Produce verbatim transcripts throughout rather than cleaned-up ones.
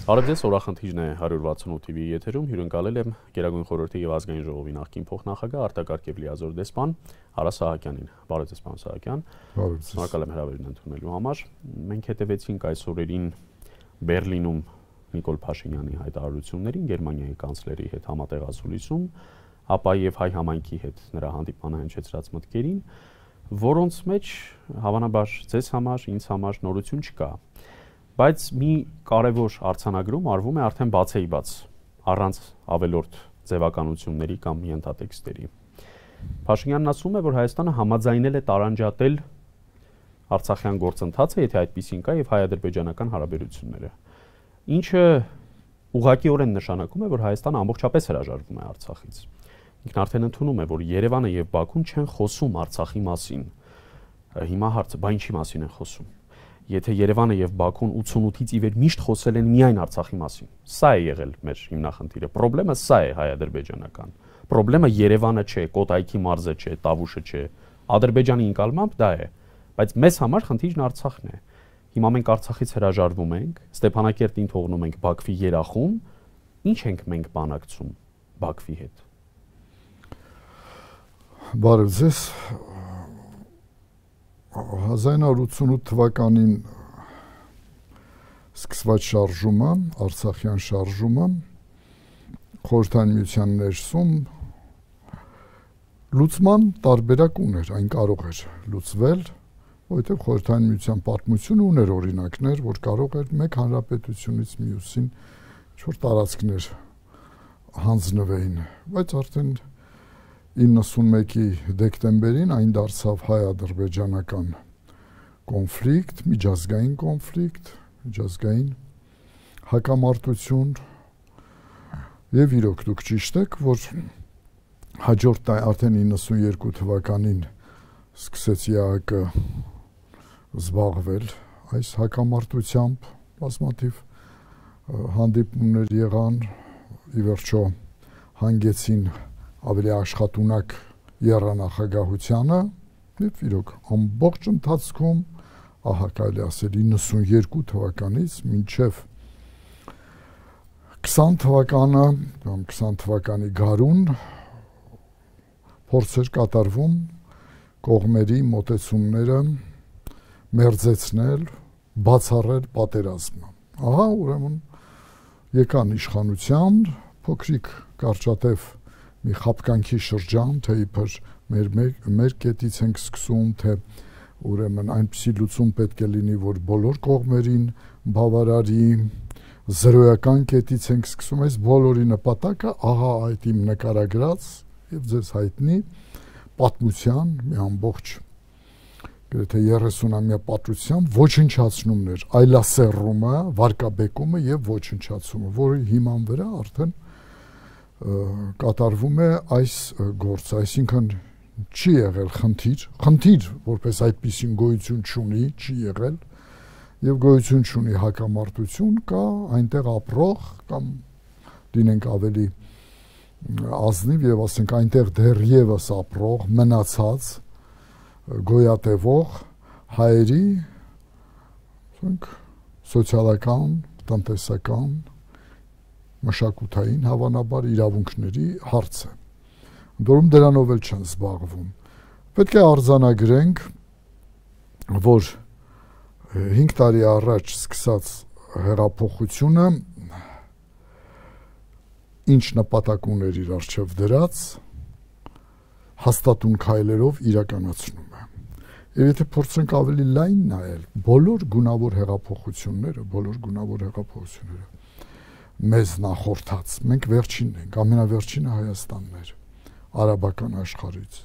Բարև ձեզ, օրախնդիրն է հարյուր վաթսունութ թիվի եթերում, հյուրընկալել եմ Գերագույն խորհրդի եւ ազգային ժողովի նախկին փոխնախագահ արտակարգ եւ լիազոր դեսպան Արա Սահակյանին։ Բարև ձեզ, պարոն Սահակյան։ Բարև ձեզ։ Շնորհակալ եմ հրավերն ընդունելու համար։ Մենք հետևեցինք այս օրերին Բերլինում Նիկոլ Փաշինյանի հայտարարություններին, Գերմանիայի կանցլերի հետ համատեղացուլիսում, ապա եւ հայ համայնքի հետ նրա հանդիպմանը հնչեցրած մտքերին, որոնց մեջ հավանաբար ձեզ համար, ինձ համար նորություն չկա։ Բայց մի կարևոր արձանագրում արվում է արդեն բացեի բաց, առանց ավելորդ ձևականությունների կամ ենթատեքստերի։ Փաշինյանն ասում է, որ Հայաստանը համաձայնել է տարանջատել Արցախյան գործընթացը, եթե այդպիսին կա, եւ հայ-ադրբեջանական հարաբերությունները։ Ինչը ուղղակիորեն նշանակում է, որ Հայաստանը ամբողջապես հրաժարվում է Արցախից։ Ինքն արդեն ընդունում է, որ Երևանը եւ Բաքուն չեն խոսում Արցախի մասին։ Հիմա հարցը, բա ինչի մասին են խոսում։ Եթե Երևանը եւ Բաքուն ութսունութից ի վեր միշտ խոսել են միայն Արցախի մասին։ Սա է եղել մեր հիմնախնդիրը։ Պրոբլեմը սա է հայ-ադրբեջանական։ Պրոբլեմը Երևանը չէ, Կոտայքի մարզը չէ, Տավուշը չէ։ Ադրբեջանի ընկալմամբ դա է։ Բայց մեզ համար խնդիրն Արցախն է։ Հիմա մենք Արցախից հրաժարվում ենք, Ստեփանակերտին թողնում ենք Բաքվի երախում, ինչ ենք մենք բանակցում Բաքվի հետ։ Բարև ձեզ։ հազար ինը հարյուր ութսունութ թվականին սկսված շարժումը, Արցախյան շարժումը, Խորհրդային Միության ներսում լուծման տարբերակ ուներ, այն կարող էր լուծվել, որովհետև Խորհրդային Միության պատմությունը ուներ օրինակներ, որ կարող էր մեկ հանրապետությունից մյուսին ինչ-որ տարածքներ հանձնվեին, բայց արդեն իննսունմեկի դեկտեմբերին այն դարձավ հայ-ադրբեջանական կոնֆլիկտ, միջազգային կոնֆլիկտ, միջազգային հակամարտություն եւ իրոք դուք ճիշտ եք, որ հաջորդ արդեն իննսունյերկու թվականին սկսեց ԵԱՀԿ զբաղվել այս հակամարտությամբ, բազմաթիվ հանդիպումներ եղան, ի վերջո հանգեցին ավելի աշխատունակ եռանախագահությանը եւ իրոք ամբողջ ընթացքում ահա կարելի ասել իննսունյերկու թվականից մինչեւ քսան թվականը կամ քսան թվականի գարուն փորձեր կատարվում կողմերի մոտեցումները մերձեցնել, բացառել պատերազմը։ Ահա ուրեմն եկան իշխանության փոքրիկ կարճատև մի խապկանքի շրջան, թե իբր մեր, մեր, մեր կետից ենք սկսում, թե ուրեմն այնպիսի լուծում պետք է լինի, որ բոլոր կողմերին բավարարի, զրոյական կետից ենք սկսում, այս բոլորի նպատակը ահա այդ իմ նկարագրած եւ ձեզ հայտնի պատմության մի ամբողջ գրեթե երեսունամյա պատմության ոչնչացնումն էր, այլասեռումը, վարկաբեկումը եւ ոչնչացումը, որի հիման վրա արդեն կատարվում է այս գործը, այսինքն չի եղել խնդիր, խնդիր, որպես այդպիսին գոյություն չունի, չի եղել եւ գոյություն չունի հակամարտություն, կա այնտեղ ապրող կամ դինենք ավելի ազնիվ եւ ասենք այնտեղ դեռևս ապրող, մնացած գոյատևող հայերի, ասենք սոցիալական, տնտեսական մշակութային հավանաբար իրավունքների հարց է։ Դուրում դրանով էլ չեն զբաղվում։ Պետք է արձանագրենք, որ հինգ տարի առաջ սկսած հեղափոխությունը ինչ նպատակ ուներ իր առջև դրած, հաստատուն քայլերով իրականացնում է։ Եվ եթե փորձենք ավելի լայն նայել, բոլոր գունավոր հեղափոխությունները, բոլոր գունավոր հեղափոխությունները մեզ նախորդած, մենք վերջինն ենք, ամենավերջինը Հայաստանն էր, արաբական աշխարհից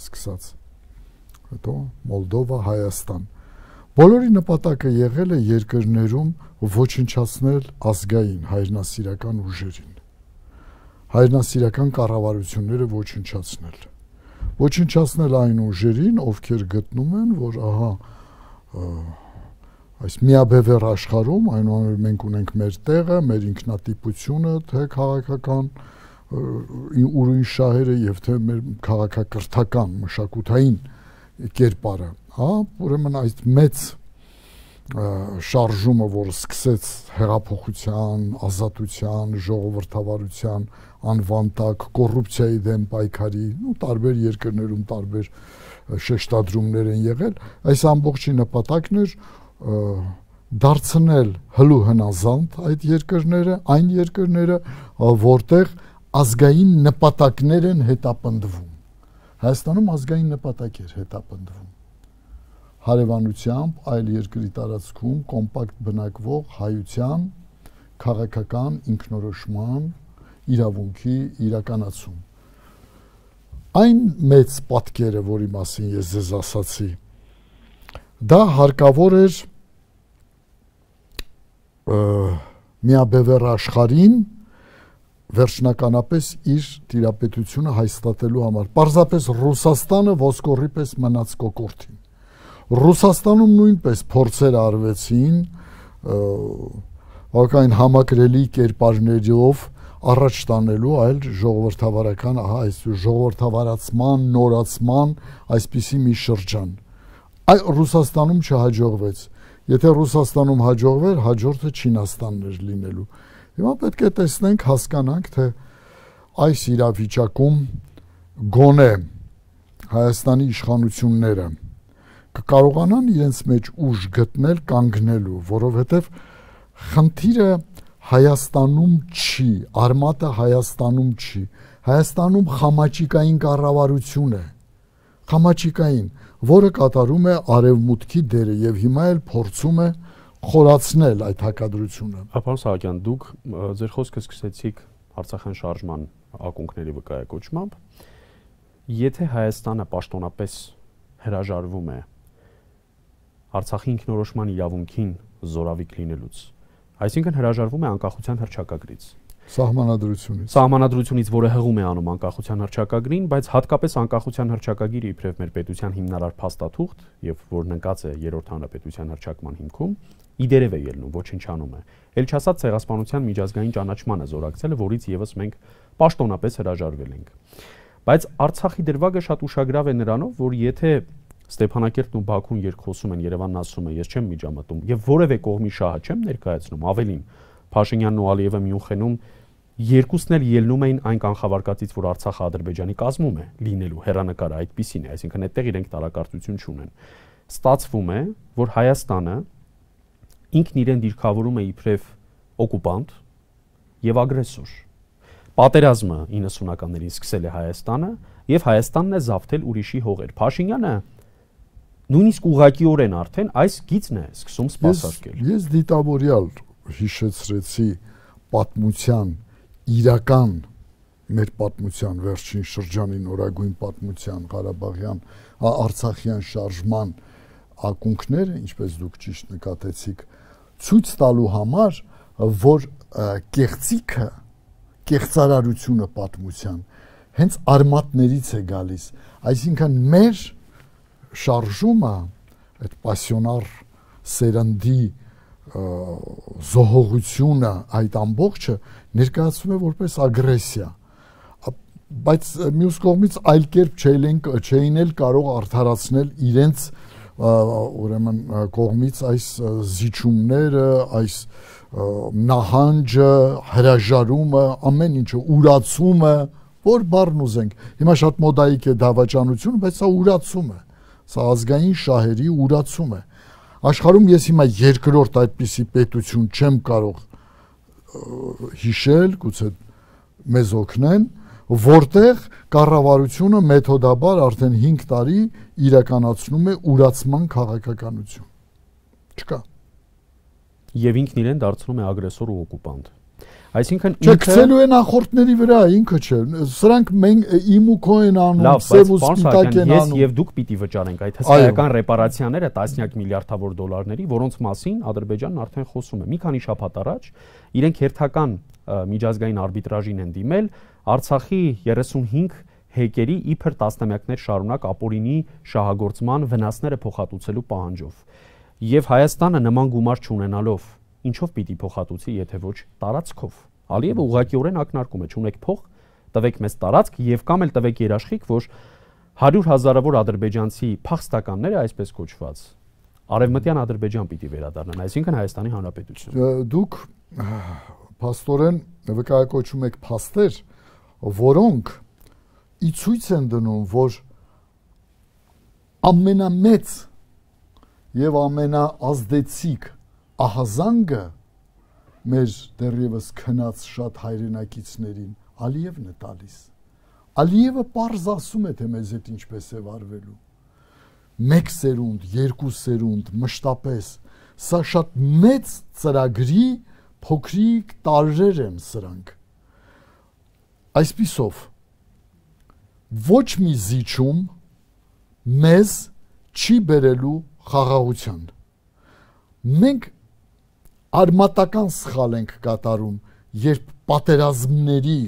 սկսած, հետո Մոլդովա, Հայաստան։ Բոլորի նպատակը եղել է երկրներում ոչնչացնել ազգային հայրենասիրական ուժերին, հայրենասիրական կառավարությունները ոչնչացնել, ոչնչացնել այն ուժերին, ովքեր գտնում են, որ ահա այս միաբևեռ աշխարհում, այնուամենայնիվ մենք ունենք մեր տեղը, մեր ինքնատիպությունը, թե քաղաքական ուրույն շահերը եւ թե մեր քաղաքակրթական մշակութային կերպարը, հա, ուրեմն այդ մեծ շարժումը, որը սկսեց հեղափոխության, ազատության, ժողովրդավարության անվան տակ, կոռուպցիայի դեմ պայքարի, ու տարբեր երկրներում տարբեր շեշտադրումներ են եղել, այս ամբողջի նպատակն էր դարձնել հլու հնազանդ այդ երկրները, այն երկրները, որտեղ ազգային նպատակներ են հետապնդվում։ Հայաստանում ազգային նպատակ էր հետապնդվում։ Հարևանությամբ այլ երկրի տարածքում կոմպակտ բնակվող հայության քաղաքական ինքնորոշման իրավունքի իրականացում։ Այն մեծ պատկերը, որի մասին ես ձեզ ասացի, դա հարկավոր էր միաբևեռ աշխարհին վերջնականապես իր տիրապետությունը հաստատելու համար։ Պարզապես Ռուսաստանը ոսկորի պես մնաց կոկորդին։ Ռուսաստանում նույնպես փորձեր արվեցին բակային համակրելի կերպարներով առաջ տանելու այլ ժողովրդավարական, ահա այս ժողովրդավարացման, նորացման այսպիսի մի շրջան։ Այ Ռուսաստանում չհաջողվեց։ Եթե Ռուսաստանում հաջողվեր, հաջորդը Չինաստանն էր լինելու։ Հիմա պետք է տեսնենք, հասկանանք, թե այս իրավիճակում գոնե Հայաստանի իշխանությունները կկարողանան իրենց մեջ ուժ գտնել կանգնելու, որովհետև խնդիրը Հայաստանում չի, արմատը Հայաստանում չի, Հայաստանում խամաճիկային կառավարություն է, խամաճիկային, որը կատարում է արևմուտքի դերը եւ հիմա էլ փորձում է խորացնել այդ հակադրությունը։ Պարոն Սահակյան, դուք ձեր խոսքը սկսեցիք Արցախյան շարժման ակունքների վկայակոչմամբ, եթե Հայաստանը պաշտոնապես հրաժարվում է Արցախի ինքնորոշման իրավունքին զորավիք լինելուց, այսինքն հրաժարվում է անկախության հռչակագրից, սահմանադրությունից, սահմանադրությունից, որը հղում է անում անկախության հռչակագրին, բայց հատկապես անկախության հռչակագիրը իբրև մեր պետության հիմնարար փաստաթուղթ եւ որն ընկած է երրորդ հանրապետության հռչակման հիմքում, իդերև է ելնում, ոչնչանում է։ Էլ չասած ցեղասպանության միջազգային ճանաչմանը զորակցելը, որից եւս մենք պաշտոնապես հրաժարվել ենք։ Բայց Արցախի դրվագը շատ ուշագրավ է նրանով, որ եթե Ստեփանակերտն ու Բաքուն երկխոսում են, Երևանն ասում է, ես չեմ միջամտում եւ որևէ կողմի շահը չեմ ներկայացնում, ավելին Փաշինյանն ու Ալիևը Մյունխենում երկուսն էլ ելնում էին այն կանխավարկածից, որ Արցախը Ադրբեջանի կազմում է լինելու, հերանեկարը այդպիսին է, այսինքն այդտեղ իրենք տարակարծություն չունեն։ Ստացվում է, որ Հայաստանը ինքն իրեն դիրքավորում է իբրև օկուպանտ եւ ագրեսոր։ Պատերազմը իննսունականներին սկսել է Հայաստանը եւ Հայաստանն է զավթել ուրիշի հողեր։ Փաշինյանը նույնիսկ ուղղակիորեն արդեն այս գիծն է սկսում սպասարկել։ Ես, ես դիտավորյալ հիշեցրեցի պատմության իրական մեր պատմության վերջին շրջանի նորագույն պատմության Ղարաբաղյան Արցախյան շարժման ակունքները, ինչպես դուք ճիշտ նկատեցիք, ցույց տալու համար, որ կեղծիքը, կեղծարարությունը պատմության հենց արմատներից է գալիս, այսինքն մեր շարժումը, այդ պասիոնար սերնդի զոհողությունը, այդ ամբողջը ներկայացվում է որպես ագրեսիա, բայց մյուս կողմից այլ կերպ չէին էլ կարող արդարացնել իրենց ուրեմն կողմից այս զիջումները, այս նահանջը, հրաժարումը, ամեն ինչը, ուրացումը, որ բառն ուզենք։ Հիմա շատ մոդայիկ է դավաճանությունը, բայց սա ուրացում է, սա ազգային շահերի ուրացում է։ Աշխարհում ես հիմա երկրորդ այդպիսի պետություն չեմ կարող հիշել, գուցե մեզ օգնեն, որտեղ կառավարությունը մեթոդաբար արդեն հինգ տարի իրականացնում է ուրացման քաղաքականություն։ Չկա։ Եվ ինքն իրեն դարձնում է ագրեսոր ու օկուպանտ։ Այսինքն ինքը է նախորդների վրա, ինքը չէ։ Սրանք մենք իմ ու քո են անում, սև ու սպիտակ են անում։ Ես եւ դուք պիտի վճարենք այդ հսկայական ռեպարացիաները տասնյակ միլիարդավոր դոլարների, որոնց մասին Ադրբեջանն արդեն խոսում է։ Մի քանի շաբաթ առաջ իրենք հերթական միջազգային արբիտրաժին են դիմել Արցախի երեսունհինգ հեկերի իբր տասնամյակներ շարունակ ապօրինի շահագործման վնասները փոխհատուցելու պահանջով։ Եվ Հայաստանը նման գումար չունենալով ինչով պիտի փոխհատուցի, եթե ոչ տարածքով։ Ալիևը ուղղակիորեն ակնարկում է, չունեք փող, տվեք մեզ տարածք եւ կամ էլ տվեք երաշխիք, որ հարյուր հազարավոր ադրբեջանցի փախստականները, այսպես կոչված, Արևմտյան Ադրբեջան պիտի վերադառնան, այսինքն Հայաստանի Հանրապետություն։ Դուք փաստորեն վկայակոչում եք փաստեր, որոնք ի ցույց են դնում, որ ամենամեծ եւ ամենաազդեցիկ ահազանգը մեր դեռևս քնած շատ հայրենակիցներին Ալիևն է տալիս։ Ալիևը պարզ ասում է, թե մեզ հետ ինչպես է վարվելու։ Մեկ սերունդ, երկու սերունդ, մշտապես, սա շատ մեծ ծրագրի փոքրիկ տարրեր են սրանք։ Այսպիսով, ոչ մի զիջում մեզ չի բերելու խաղաղության։ Մենք արմատական սխալ ենք կատարում, երբ պատերազմների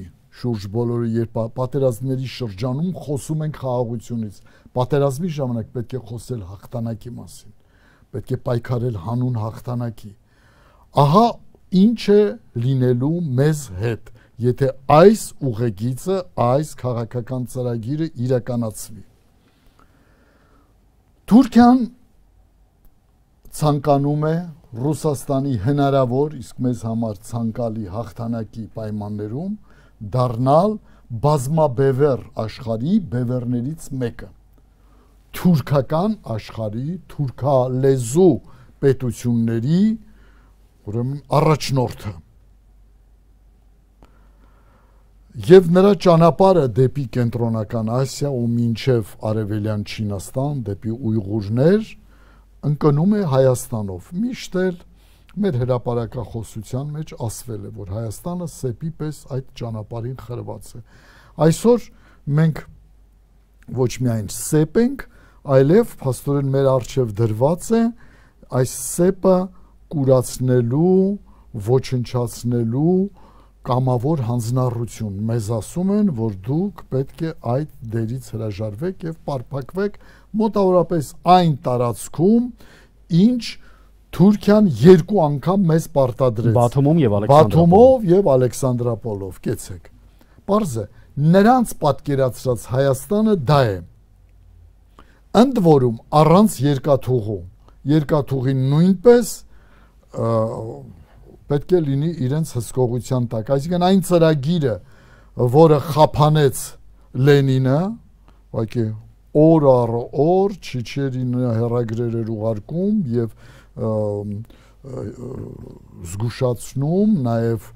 շուրջ բոլորը, երբ պատերազմների շրջանում խոսում ենք խաղաղությունից։ Պատերազմի ժամանակ պետք է խոսել հաղթանակի մասին, պետք է պայքարել հանուն հաղթանակի։ Ահա ինչ է լինելու մեզ հետ, եթե այս ուղեգիծը, այս քաղաքական ծրագիրը իրականացվի։ Թուրքիան ցանկանում է Ռուսաստանի հնարավոր, իսկ մեզ համար ցանկալի հաղթանակի պայմաններում դառնալ բազմաբևեռ աշխարհի բևեռներից մեկը, թուրքական աշխարհի, թուրքալեզու պետությունների, ուրեմն առաջնորդը։ Եվ նրա ճանապարհը դեպի կենտրոնական Ասիա ու մինչև արևելյան Չինաստան, դեպի Ույղուրներ, ընկնում է Հայաստանով։ Միշտ էլ մեր հրապարակախոսության մեջ ասվել է, որ Հայաստանը սեպի պես այդ ճանապարհին խրված է։ Այսօր մենք ոչ միայն սեպ ենք, այլև փաստորեն մեր առջև դրված է այս սեպը կուրացնելու, ոչնչացնելու կամավոր հանձնառություն։ Մեզ ասում են, որ դուք պետք է այդ դերից հրաժարվեք եւ պարփակվեք մոտավորապես այն տարածքում, ինչ Թուրքիան երկու անգամ մեզ պարտադրեց Բաթումում եւ Ալեքսանդրապոլով։ Բաթումով եւ Ալեքսանդրապոլով, կեցեք։ Պարզ է, նրանց պատկերացրած Հայաստանը դա է։ Ընդ որում առանց երկաթուղու, երկաթուղին նույնպես պետք է լինի իրենց հսկողության տակ, այսինքն այն ծրագիրը, որը խափանեց Լենինը, ուղղակի օր առ օր Չիչերին հեռագրեր էր ուղարկում եւ զգուշացնում, նաև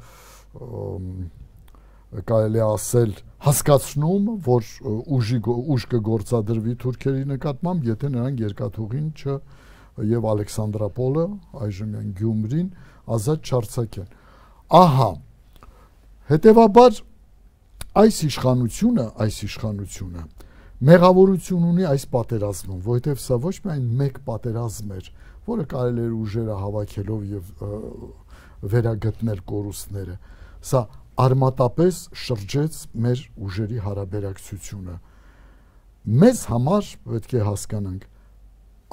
կարելի ասել հասկացնում, որ ուժի ուժ կգործադրվի թուրքերի նկատմամբ, եթե նրանք երկաթուղին չ եւ Ալեքսանդրապոլը, այժմյան Գյումրին ազատ չարձակեն։ Ահա, հետեւաբար այս իշխանությունը, այս իշխանությունը մեղավորություն ունի այս պատերազմում, որովհետև սա ոչ միայն մեկ պատերազմ էր, որը կարելի էր ուժերը հավաքելով եւ վերագտնել կորուստները, սա արմատապես շրջեց մեր ուժերի հարաբերակցությունը։ Մեզ համար պետք է հասկանանք,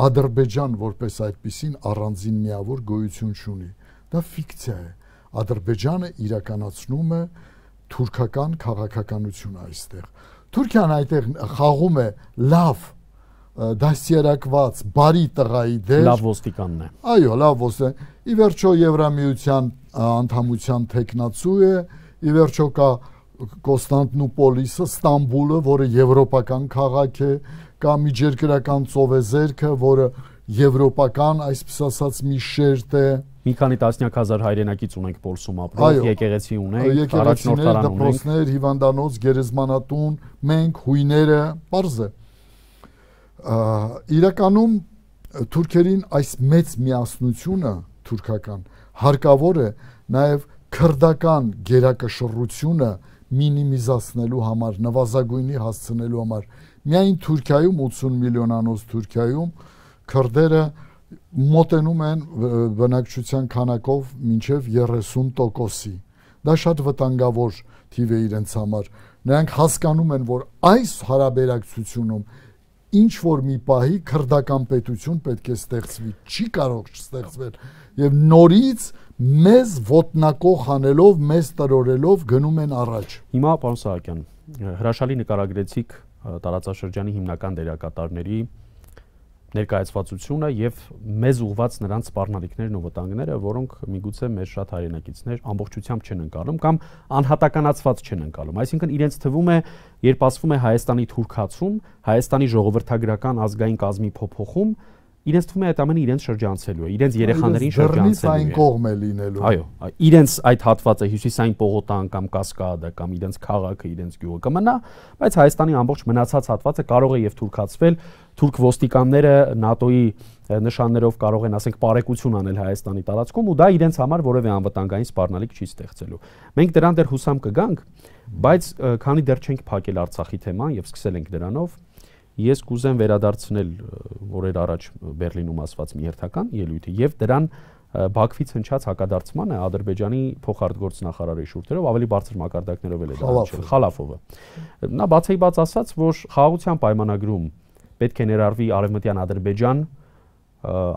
Ադրբեջան որպես այդպիսին առանձին միավոր գոյություն չունի, դա ֆիկցիա է։ Ադրբեջանը իրականացնում է թուրքական քաղաքականությունը այստեղ։ Թուրքիան այդտեղ խաղում է լավ դասերակված բարի տղայի դեր, լավ ոստիկանն է։ Այո, լավ ոստիկան։ Ի վերջո Եվրամիության անդամության թեկնածու է, ի վերջո կա Կոստանդնուպոլիսը, Ստամբուլը, որը եվրոպական քաղաք է, կա միջերկրական ծովեզերքը, որը եվրոպական, այսպես ասած, մի շերտ է։ Մի քանի տասնյակ հազար հայրենակից ունենք Պոլսում ապրող, եկեղեցի ունենք, առաջնորդարան ունենք, դպրոցներ, հիվանդանոց, գերեզմանատուն, մենք հույները, պարզ է։ Իրականում թուրքերին այս մեծ միասնությունը թուրքական հարկավոր է նաև քրդական գերակշռությունը մինիմիզացնելու համար, նվազագույնի հասցնելու համար։ Միայն Թուրքիայում ութսուն միլիոնանոց Թուրքիայում քրդերը մոտենում են բնակչության քանակով մինչև երեսուն տոկոսի։ Դա շատ վտանգավոր թիվ է իրենց համար։ Նրանք հասկանում են, որ այս հարաբերակցությունում ինչ որ մի պահի քրդական պետություն պետք է ստեղծվի, չի կարող չստեղծվել եւ նորից մեզ ոտնակող անելով, մեզ տրորելով գնում են առաջ։ Հիմա պարոն Սահակյան, հրաշալի նկարագրեցիք տարածաշրջանի հիմնական դերակատարների ներկայացվածությունը եւ մեզ ուղված նրանց սպառնալիքներն ու վտանգները, որոնք միգուցե մեր շատ հայրենակիցներ ամբողջությամբ չեն ընկալում կամ անհատականացված չեն ընկալում։ Այսինքն իրենց թվում է, երբ ասվում է Հայաստանի թուրքացում, Հայաստանի ժողովրդագրական ազգային կազմի փոփոխում, իրենց թվում է այդ ամենը իրենց շրջանցելու է, իրենց երեխաներին շրջանցելու է։ Այն կողմ է լինելու։ Այո, իրենց այդ հատվածը հյուսիսային պողոտան կամ կասկադը կամ իրենց քաղաքը, իրենց գյուղը կմնա, բայց Հայաստանի ամբողջ մնացած հատվածը կարող է եւ թուրքացվել, թուրք ոստիկանները ՆԱՏՕ-ի նշաններով կարող են, ասենք, բարեկություն անել Հայաստանի տարածքում ու դա իրենց համար որևէ անվտանգային սպառնալիք չի ստեղծելու։ Մենք դրան դեռ հուսամ կգանք, բայց քանի դեռ չենք փակել Արցախի թեման եւ սկսել ենք դրանով, ես կուզեմ վերադարձնել օրեր առաջ Բերլինում ասված մի հերթական ելույթը եւ դրան Բաքվից հնչած հակադարձմանը Ադրբեջանի փոխարտգործնախարարի շուրթերով ավելի բարձր մակարդակներով էլ է դարձել Խալաֆովը։ Նա բացի բաց ասաց, որ խաղաղության պայմանագրում պետք է ներառվի արևմտյան Ադրբեջան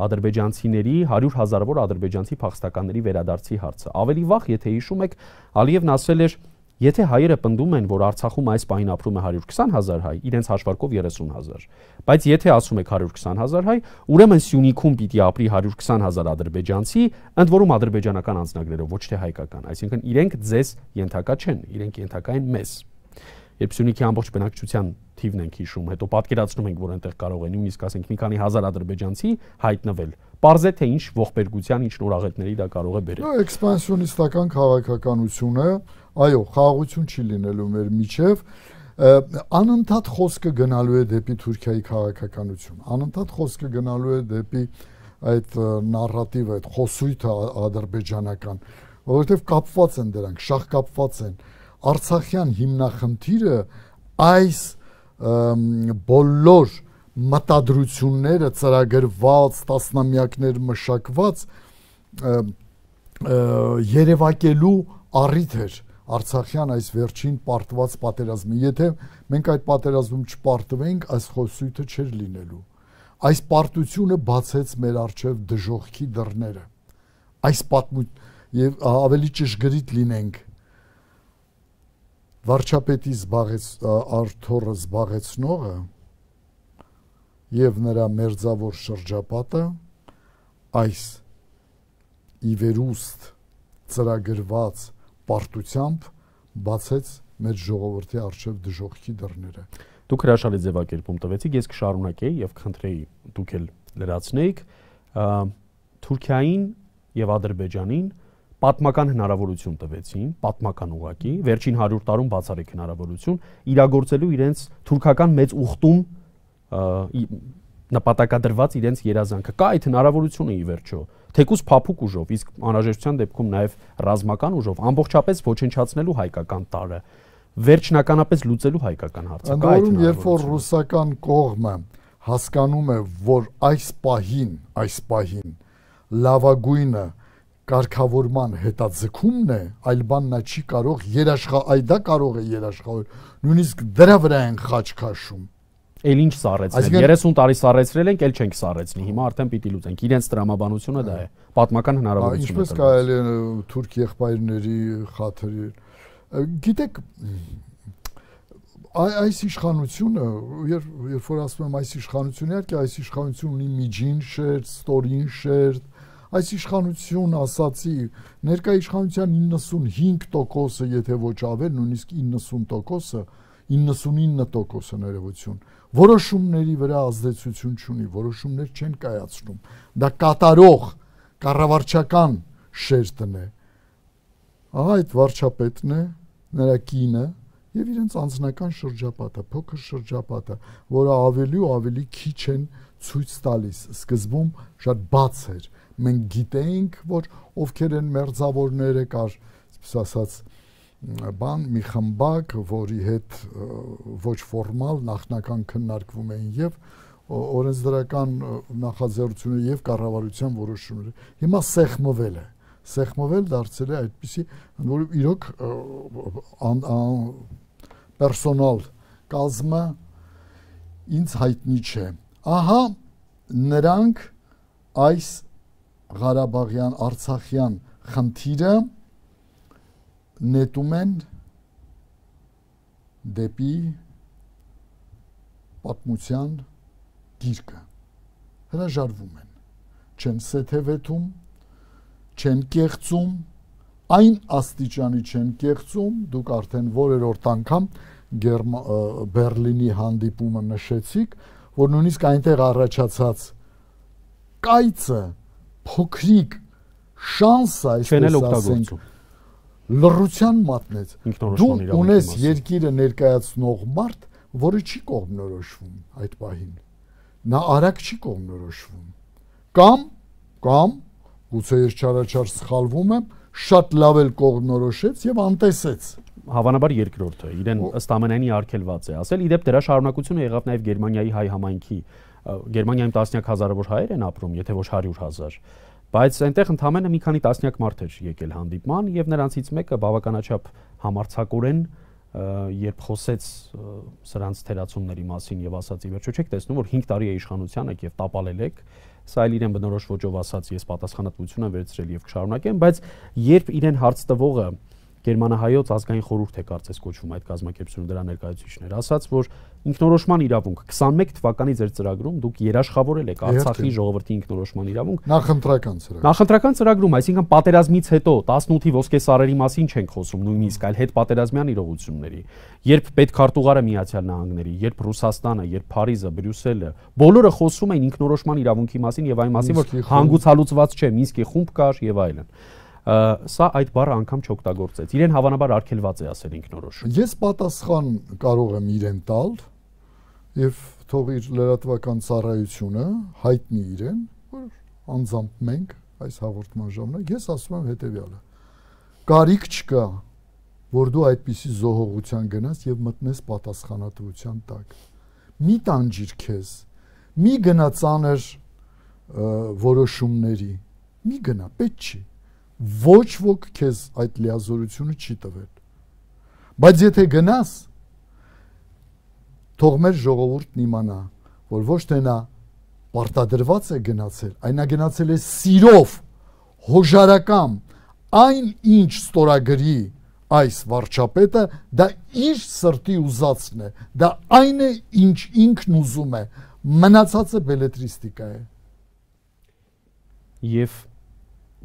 ադրբեջանցիների հարյուր հազարավոր ադրբեջանցի փախստականների վերադարձի հարցը։ Ավելի վաղ, եթե հիշում եք, Ալիևն ասել էր, եթե հայերը պնդում են, որ Արցախում այս պահին ապրում է հարյուր քսան հազար հայ, իրենց հաշվարկով երեսուն հազար, բայց եթե ասում եք հարյուր քսան հազար հայ, ուրեմն Սյունիքում պիտի ապրի հարյուր քսան հազար ադրբեջանցի, ընդ որում ադրբեջանական անձնագրերով, ոչ թե հայկական, այսինքն իրենք ձեզ ենթակա չեն, իրենք ենթակա են մեզ։ Երբ Սյունիքի ամբողջ բնակչության թիվն ենք հիշում, հետո պատկերացնում ենք, որ այնտեղ կարող է նույնիսկ ասենք մի քանի հազար ադրբեջանցի հայտնվել։ Պարզ է, թե ինչ ողբերգության, ինչ նորաղետների դա կարող է բերել։ Էքսպանսիոնիստական քաղաքականությունը, այո, խաղաղություն չի լինելու մեր միջև, անընդհատ խոսքը գնալու է դեպի Թուրքիայի քաղաքականություն, անընդհատ խոսքը գնալու է դեպի այդ նարատիվը, այդ խոսույթը ադրբեջանական, որովհետև կապված են դրանք, շահ կապված են։ Արցախյան հիմնախնդիրը այս բոլոր մտադրությունները ծրագրված, տասնամյակներ մշակված երևակելու առիթ էր Արցախյան այս վերջին պարտված պատերազմը։ Եթե մենք այդ պատերազմում չպարտվենք, այս խոսույթը չէր լինելու։ Այս պարտությունը բացեց մեր առջև դժոխքի դռները։ Այս պատմություն եւ ավելի ճշգրիտ լինենք, վարչապետի զբաղեց արթորը զբաղեցնողը եւ նրա մերձավոր շրջապատը այս իվերուստ ծրագրված պարտությամբ բացեց մեր ժողովրդի առջև դժոխքի դռները։ Դուք հրաշալի ձևակերպում տվեցիք, ես կշարունակեի եւ խնդրեի դուք էլ լրացնեիք Թուրքիային եւ Ադրբեջանին պատմական հնարավորություն տվեցին, պատմական ուղղակի, վերջին հարյուր տարում բացառիկ հնարավորություն իրագործելու իրենց թուրքական մեծ ուխտում նպատակադրված իրենց երազանքը։ Կա այդ հնարավորությունը ի վերջո, թեկուզ փափուկ ուժով, իսկ անհրաժեշտության դեպքում նաև ռազմական ուժով ամբողջապես ոչնչացնելու հայկական տարը, վերջնականապես լուծելու հայկական հարցը։ Կա այդ հնարավորությունը։ Երբ որ ռուսական կողմը հասկանում է, որ այս պահին, այս պահին լավագույնը կարգավորման հետաձգումն է, այլ բան նա չի կարող երաշխա, այ դա կարող է երաշխավորել, նույնիսկ դրա վրա են խաչ քաշում։ Էլ ինչ սառեցնել, երեսուն տարի սառեցրել ենք, էլ չենք սառեցնի, հիմա արդեն պիտի լուծենք, իրենց տրամաբանությունը դա է, պատմական հնարավորություն է։ Ինչպես կարելի է թուրք եղբայրների խաթրել։ Գիտեք, այս իշխանությունը, երբ որ ասում եմ այս իշխանությունը, իհարկե այս իշխանությունը ունի միջին շերտ, ստորին շերտ, այս իշխանություն ասացի, ներկա իշխանության իննսունհինգ տոկոսը, եթե ոչ ավել, նույնիսկ իննսուն տոկոսը, իննսունինը տոկոսը ներողություն, որոշումների վրա ազդեցություն չունի, որոշումներ չեն կայացնում։ Դա կատարող, կառավարչական շերտն է։ Ահա այդ վարչապետն է, նրա կինը եւ իրենց անձնական շրջապատը, փոքր շրջապատը, որը ավելի ու ավելի քիչ են ցույց տալիս։ Սկզբում շատ բաց էր։ Մենք գիտեինք, որ ովքեր են մերձավորները, կար, այսպես ասած, բան մի խմբակ, որի հետ ոչ ֆորմալ նախնական քննարկվում էին եւ օրենսդրական նախաձեռնությունները եւ կառավարության որոշումները։ Հիմա սեղմվել է, սեղմվել դարձել է այդպիսի, որ իրոք պերսոնալ կազմը ինձ հայտնի չէ։ Ահա նրանք այս Ղարաբաղյան, Արցախյան խնդիրը նետում են դեպի պատմության գիրկը, հրաժարվում են, չեն սեթևեթում, չեն կեղծում, այն աստիճանի չեն կեղծում, դուք արդեն որերորդ անգամ Բերլինի հանդիպումը նշեցիք, որ նույնիսկ այնտեղ առաջացած կայծը, փոքրիկ շանսը, այսպես ասենք, լռության մատնեց։ Դու ունես երկիրը ներկայացնող մարդ, որը չի կողմնորոշվում այդ պահին։ Նա արագ չի կողմնորոշվում։ Կամ, կամ, գուցե ես չարաչար սխալվում եմ, շատ լավ էլ կողմնորոշեց եւ անտեսեց։ Հավանաբար երկրորդը իրեն ըստ ամենայնի արգելված է ասել։ Իդեպ դրա շարունակությունը եղավ նաև Գերմանիայի հայ համայնքի։ Գերմանիայում տասնյակ հազարավոր հայեր են ապրում, եթե ոչ հարյուր հազար։ Բայց այնտեղ ընդամենը մի քանի տասնյակ մարդ էր եկել հանդիպման եւ նրանցից մեկը բավականաչափ համարձակորեն երբ խոսեց սրանց թերացումների մասին եւ ասաց ի վերջո չեք տեսնում որ հինգ տարի է իշխանության եք եւ տապալել եք, սա էլ իրեն բնորոշ ոճով ասաց ես պատասխանատվություն եմ վերցրել եւ կշարունակեմ, բայց երբ իրեն հարց տվողը Գերմանահայոց ազգային խորհուրդ է կարծես կոչվում այդ կազմակերպությունը դրա ներկայացուցիչներ, ասաց որ ինքնորոշման իրավունք քսանմեկ թվականի ձեր ծրագրում դուք երաշխավորել եք Արցախի ժողովրդի ինքնորոշման իրավունք նախընտրական ծրագրում։ Նախընտրական ծրագրում, այսինքն պատերազմից հետո տասնութի ոսկե սարերի մասին չենք խոսում նույնիսկ, այլ հետպատերազմյան իրողությունների։ Երբ պետքարտուղարը Միացյալ Նահանգների, երբ Ռուսաստանը, երբ Փարիզը, Բրյուսելը, բոլորը խոսում էին ինքնորոշման իրավունքի մասին եւ այն մասին, որ հանգուցալուծված չէ, Մինսկի խումբ կար եւ այլն։ Սա այդ բառը անգամ չօգտագործեց։ Իրեն հավանաբար արգելված է ասել ինքնորոշում։ Ես պատասխան կարող եմ իրեն տալ եւ թող իր լրատվական ծառայությունը հայտնի իրեն, որ անձամբ մենք այս հաղորդման ժամանակ ես ասում եմ հետեւյալը. կարիք չկա, որ դու այդպիսի զոհողության գնաս եւ մտնես պատասխանատվության տակ։ Մի տանջիր քեզ, մի գնա ծանր որոշումների, մի գնա, պետք չի։ Ոչ ոք քեզ այդ լիազորությունը չի տվել։ Բայց եթե գնաս, թող մեր ժողովուրդն իմանա, որ ոչ թե նա պարտադրված է գնացել, այլ նա գնացել է սիրով, հոժարակամ, այն ինչ ստորագրի այս վարչապետը, դա իր սրտի ուզածն է, դա այն է, ինչ ինքն ուզում է, մնացածը բելետրիստիկա է։ Եվ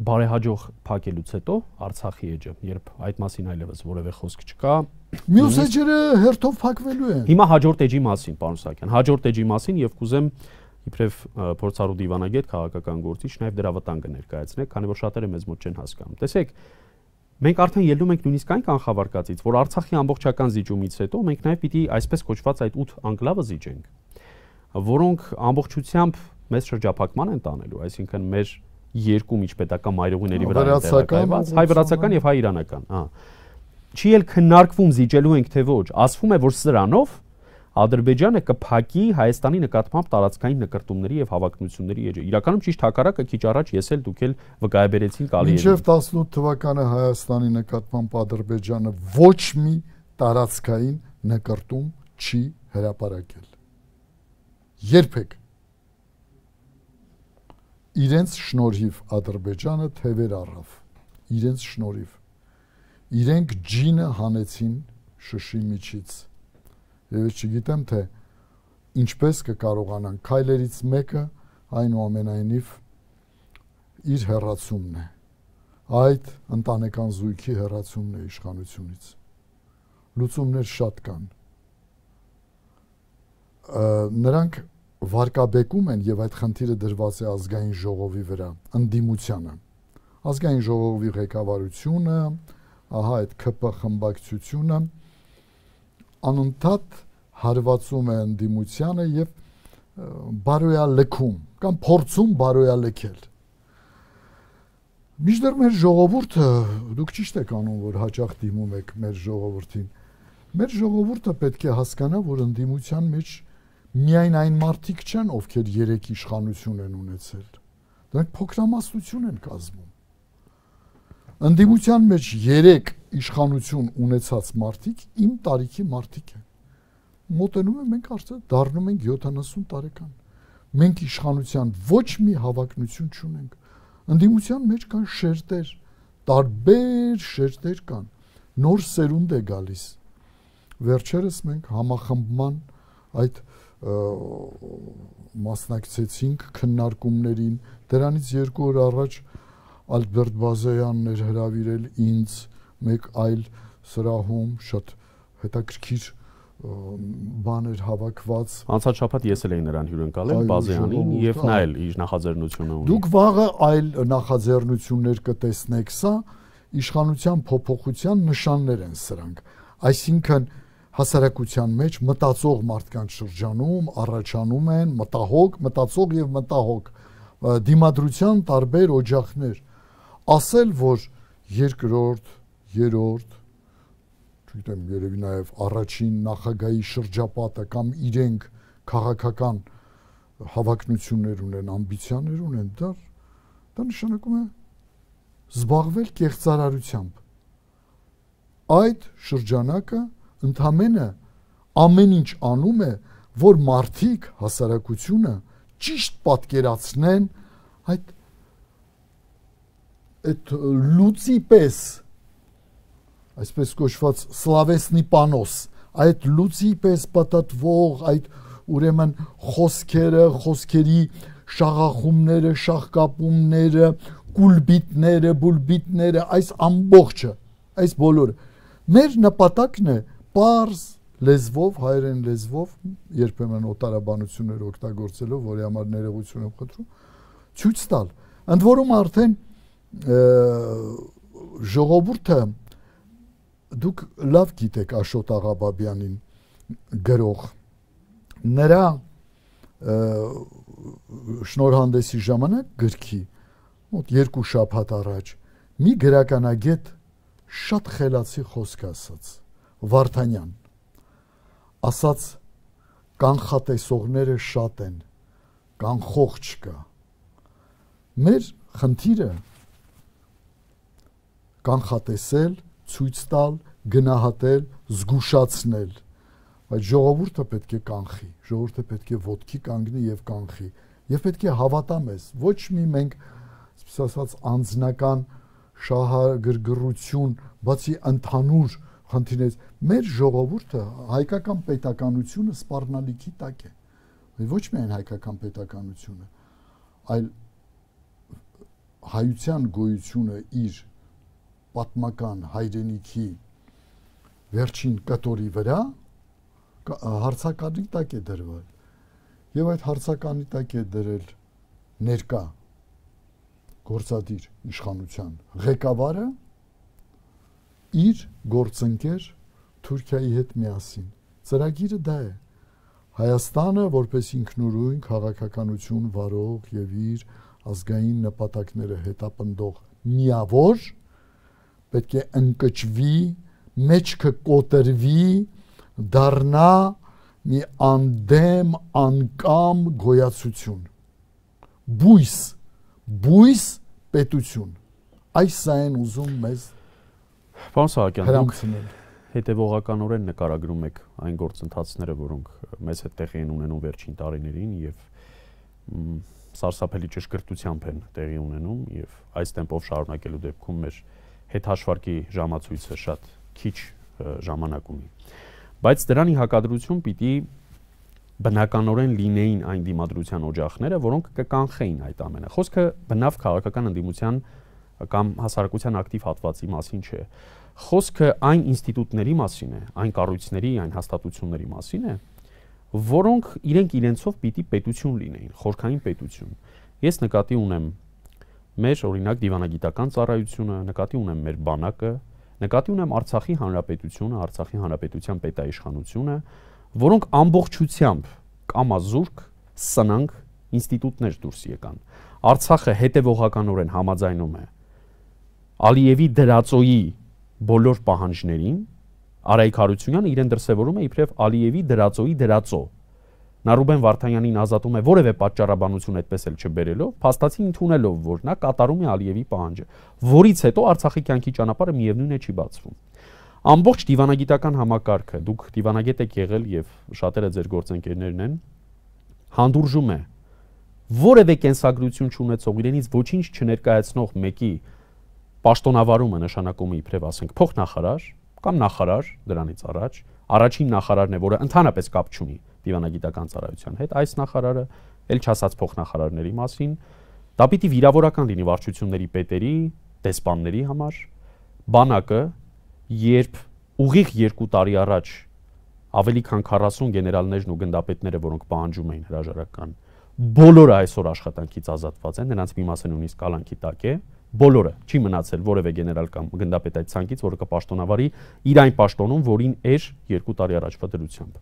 բարեհաջող փակելուց հետո Արցախի էջը, երբ այդ մասին այլևս որևէ խոսք չկա, մյուս էջերը հերթով փակվելու են։ Հիմա հաջորդ էջի մասին, պարոն Սահակյան, հաջորդ էջի մասին եւ կուզեմ իբրև փորձառու դիվանագետ, քաղաքական գործիչ, նաեւ դրա վտանգը ներկայացնեք, քանի որ շատերը մեզ մոտ չեն հասկանում։ Տեսեք, մենք արդեն ելնում ենք նույնիսկ այն կանխավարկածից, որ Արցախի ամբողջական զիջումից հետո մենք նաեւ պիտի այսպես կոչված այդ ութ անկլավը զիջենք, որոնք ամբողջությամբ մեզ շրջափակման են տանելու, այսինքն մեր երկու միջպետական մայրուղիների վրա տեղակայված, հայ-վրացական եւ հայ-իրանական, հա։ Չի էլ քննարկվում զիջելու ենք թե ոչ, ասվում է, որ սրանով Ադրբեջանը կփակի Հայաստանի նկատմամբ տարածքային նկրտումների եւ հավակնությունների էջը։ Իրականում ճիշտ հակառակը քիչ առաջ ես էլ դուք էլ վկայաբերեցինք Ալիևին։ Մինչև տասնութ թվականը Հայաստանի նկատմամբ Ադրբեջանը ոչ մի տարածքային նկրտում չի հրապարակել։ Երբեք։ Իրենց շնորհիվ Ադրբեջանը թևեր առավ, իրենց շնորհիվ, իրենք ջինը հանեցին շշի միջից, եւ ես չգիտեմ թե ինչպես կկարողանան, քայլերից մեկը այնուամենայնիվ իր հեռացումն է, այդ ընտանեկան զույգի հեռացումն է իշխանությունից, լուծումներ շատ կան, նրանք վարկաբեկում են եւ այդ խնդիրը դրված է ազգային ժողովի վրա, ընդդիմությանը։ Ազգային ժողովի ղեկավարությունը, ահա այդ ՔՊ խմբակցությունը անընդհատ հարվածում է ընդդիմությանը եւ բարոյալքում կամ փորձում բարոյալքել։ Մինչդեռ մեր ժողովուրդը, դուք ճիշտ եք անում, որ հաճախ դիմում եք մեր ժողովրդին։ Մեր ժողովուրդը պետք է հասկանա, որ ընդդիմության մեջ միայն այն մարդիկ չեն, ովքեր երեք իշխանություն են ունեցել։ Դրանք փոքրամասնություն են կազմում։ Ընդդիմության մեջ երեք իշխանություն ունեցած մարդիկ իմ տարիքի մարդիկ են։ Մոտենում են, մենք արդեն դառնում ենք յոթանասուն տարեկան։ Մենք իշխանության ոչ մի հավակնություն չունենք։ Ընդդիմության մեջ կան շերտեր, տարբեր շերտեր կան։ Նոր սերունդ է գալիս։ Վերջերս մենք համախմբման այդ մասնակցեցինք քննարկումներին, դրանից երկու օր առաջ Ալբերտ Բազայանն էր հրավիրել ինձ մեկ այլ սրահում, շատ հետաքրքիր բաներ հավաքված։ Անցած շաբաթ ես էլ էի նրան հյուրընկալել Բազայանին եւ նա էլ իր նախաձեռնությունը ունի։ Դուք վաղը այլ նախաձեռնություններ կտեսնեք, սա իշխանության փոփոխության նշաններ են սրանք։ Այսինքն հասարակության մեջ մտածող մարդկանց շրջանում առաջանում են մտահոգ, մտածող եւ մտահոգ դիմադրության տարբեր օջախներ։ Ասել, որ երկրորդ, երրորդ, չգիտեմ, երևի նաև առաջին նախագահի շրջապատը կամ իրենք քաղաքական հավակնություններ ունեն, ամբիցիաներ ունեն, դա դա նշանակում է զբաղվել կեղծարարությամբ։ Այդ շրջանակը ընդամենը ամեն ինչ անում է, որ մարդիկ, հասարակությունը ճիշտ պատկերացնեն այդ այդ լուծի պես, այսպես կոչված սլավեսնի պանոս, այդ լուծի պես պատտվող, այդ ուրեմն խոսքերը, խոսքերի շաղախումները, շաղկապումները, կուլբիտները, բուլբիտները, այս ամբողջը, այս բոլորը մեր նպատակն է պարզ լեզվով, հայերեն լեզվով, երբեմն օտարաբանություններ օգտագործելով, որի համար ներողություն եմ խնդրում, ցույց տալ։ Ընդ որում արդեն ժողովուրդը, դուք լավ գիտեք Աշոտ Աղաբաբյանին, գրող, նրա շնորհանդեսի ժամանակ գրքի, մոտ երկու շաբաթ առաջ, մի գրականագետ շատ խելացի խոսք ասաց, Վարդանյան, ասաց կանխատեսողները շատ են, կանխող չկա։ Մեր խնդիրը կանխատեսել, ցույց տալ, գնահատել, զգուշացնել, բայց ժողովուրդը պետք է կանխի, ժողովուրդը պետք է ոտքի կանգնի եւ կանխի, եւ պետք է հավատա մեզ, ոչ մի մենք, այսպես ասած, անձնական շահագրգռություն, բացի ընդհանուր խնդիրներից, մեր ժողովուրդը հայկական պետականությունը սպառնալիքի տակ է, ոչ միայն հայկական պետականությունը, այլ հայության գոյությունը իր պատմական հայրենիքի վերջին կտորի վրա հարցականի տակ է դրվել եւ այդ հարցականի տակ է դրել ներկա գործադիր իշխանության ղեկավարը իր գործընկեր Թուրքիայի հետ միասին։ Ծրագիրը դա է։ Հայաստանը որպես ինքնուրույն քաղաքականություն վարող եւ իր ազգային նպատակները հետապնդող միավոր պետք է ընկճվի, մեջքը կոտրվի, դառնա մի անդեմ, անկամ գոյացություն։ Բույս, բույս պետություն։ Այս սա են ուզում մեզ Պարոն Սահակյան, դուք հետևողականորեն նկարագրում եք այն գործընթացները, որոնք մեզ հետ տեղի են ունենում վերջին տարիներին եւ սարսափելի ճշգրտությամբ են տեղի ունենում եւ այս տեմպով շարունակելու դեպքում մեր հետհաշվարկի ժամացույցը շատ քիչ ժամանակ ունի։ Բայց դրանի հակադրություն պիտի բնականորեն լինեին այն դիմադրության օջախները, որոնք կկանխեին այդ ամենը։ Խոսքը բնավ քաղաքական ընդդիմության կամ հասարակության ակտիվ հատվածի մասին չէ։ Խոսքը այն ինստիտուտների մասին է, այն կառույցների, այն հաստատությունների մասին է, որոնք իրենք իրենցով պիտի պետություն լինեին, խորքային պետություն։ Ես նկատի ունեմ մեր օրինակ դիվանագիտական ծառայությունը, նկատի ունեմ մեր բանակը, նկատի ունեմ Արցախի հանրապետությունը, Արցախի հանրապետության պետաիշխանությունը, որոնք ամբողջությամբ կամազուրկ, սնանկ ինստիտուտներ դուրս եկան։ Արցախը հետևողականորեն համաձայնում է Ալիևի դրածոյի բոլոր պահանջներին, Արայիկ Հարությունյանը իրեն դրսևորում է իբրև Ալիևի դրածոյի դրածո։ Նա Ռուբեն Վարդանյանին ազատում է որևէ պատճառաբանություն այդպես էլ չբերելով, փաստացի ընդունելով, որ նա կատարում է Ալիևի պահանջը, որից հետո Արցախի կյանքի ճանապարհը միևնույն է չի բացվում։ Ամբողջ դիվանագիտական համակարգը, դուք դիվանագետ եք եղել եւ շատերը ձեր գործընկերներն են, հանդուրժում է որևէ կենսագրություն չունեցող, իրենից ոչինչ չներկայացնող մեկի պաշտոնավարումը նշանակում է իբրև ասենք փոխնախարար կամ նախարար դրանից առաջ, առաջին նախարարն է, որը ընդհանրապես կապ չունի դիվանագիտական ծառայության հետ, այս նախարարը, ել չասած փոխնախարարների մասին, դա պիտի վիրավորական լինի վարչությունների պետերի, դեսպանների համար, բանակը, երբ ուղիղ երկու տարի առաջ ավելի քան քառասուն գեներալներն ու գնդապետները, որոնք պահանջում էին հրաժարական, բոլորը այսօր աշխատանքից ազատված են, նրանց մի մասը նույնիսկ կալանքի տակ է, բոլորը, չի մնացել որևէ գեներալ կամ գնդապետ այդ ցանկից, որը կպաշտոնավարի իր այն պաշտոնում, որին էր երկու տարի առաջվա դրությամբ։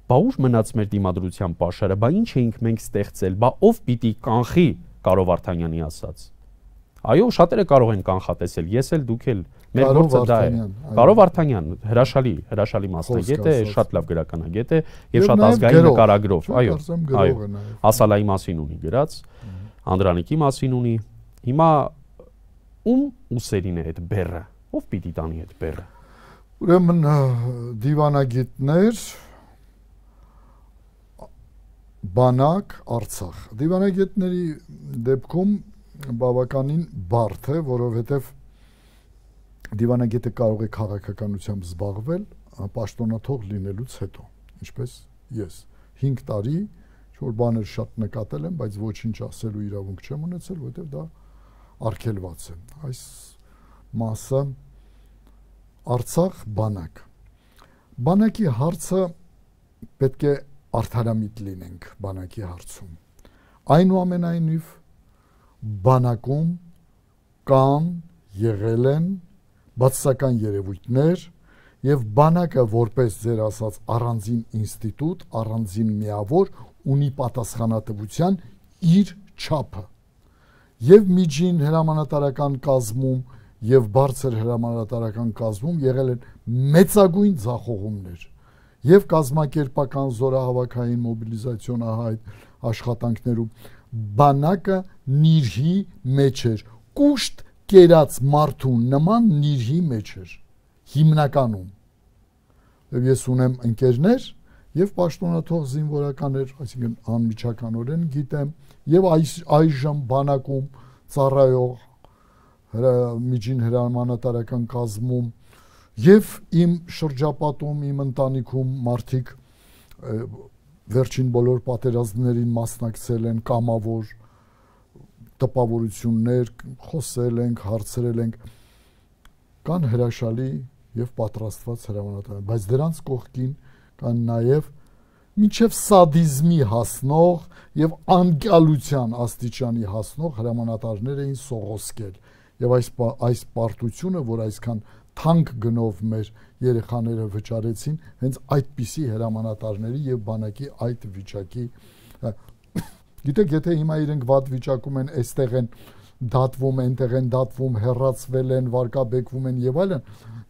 Բա ուր մնաց մեր դիմադրության պաշարը, բա ինչ էինք մենք ստեղծել, բա ով պիտի կանխի Կարո Վարդանյանի ասած։ Այո, շատերը կարող են կանխատեսել, ես էլ, դուք էլ, մեր գործը դա է։ Կարո Վարդանյան, հրաշալի, հրաշալի մասնագետ է, շատ լավ գրականագետ է եւ շատ ազգային նկարագրով, այո, այո, Ասալայի մասին ունի գրած, Անդրանիկի մասին ունի։ Հիմա ում ուսերին է այդ բեռը, ով պիտի տանի այդ բեռը։ Ուրեմն դիվանագետներ, բանակ, Արցախ։ Դիվանագետների դեպքում բավականին բարդ է, որովհետև դիվանագետը կարող է քաղաքականությամբ զբաղվել պաշտոնաթող լինելուց հետո, ինչպես ես հինգ տարի որ բաներ շատ նկատել եմ, բայց ոչինչ ասելու իրավունք չեմ ունեցել, որովհետև դա արգելված է։ Այս մասը Արցախ բանակ։ Բանակի հարցը պետք է արդարամիտ լինենք բանակի հարցում։ Այնուամենայնիվ բանակում կան եղել են բացասական երևույթներ եւ բանակը որպես ձեր ասած առանձին ինստիտուտ, առանձին միավոր ունի պատասխանատվության իր չափը եւ միջին հրամանատարական կազմում եւ բարձր հրամանատարական կազմում եղել են մեծագույն ձախողումներ եւ կազմակերպական զորահավաքային մոբիլիզացիոն ահայտ աշխատանքներում բանակը նիրհի մեջ էր կուշտ կերած մարդու նման նիրհի մեջ էր հիմնականում եւ ես ունեմ ընկերներ եւ պաշտոնաթող զինվորականներ, այսինքն անմիջականորեն գիտեմ, եւ այս այժմ բանակում ծառայող միջին հրամանատարական կազմում եւ իմ շրջապատում, իմ ընտանիքում մարդիկ վերջին բոլոր պատերազմներին մասնակցել են, կամավոր տպավորություններ, խոսել ենք, հարցրել ենք, կան հրաշալի եւ պատրաստված հրամանատարներ, բայց դրանց կողքին կան նաև մինչև սադիզմի հասնող եւ անկյալության աստիճանի հասնող հրամանատարներ էին սողոսկել եւ այս այս պարտությունը, որ այսքան թանկ գնով մեր երեխաները վճարեցին, հենց այդպիսի հրամանատարների եւ բանակի այդ վիճակի գիտեք, եթե հիմա իրենք վատ վիճակում են, այստեղ են դատվում, այնտեղ են դատվում, հեռացվել են, վարկաբեկվում են եւ այլն,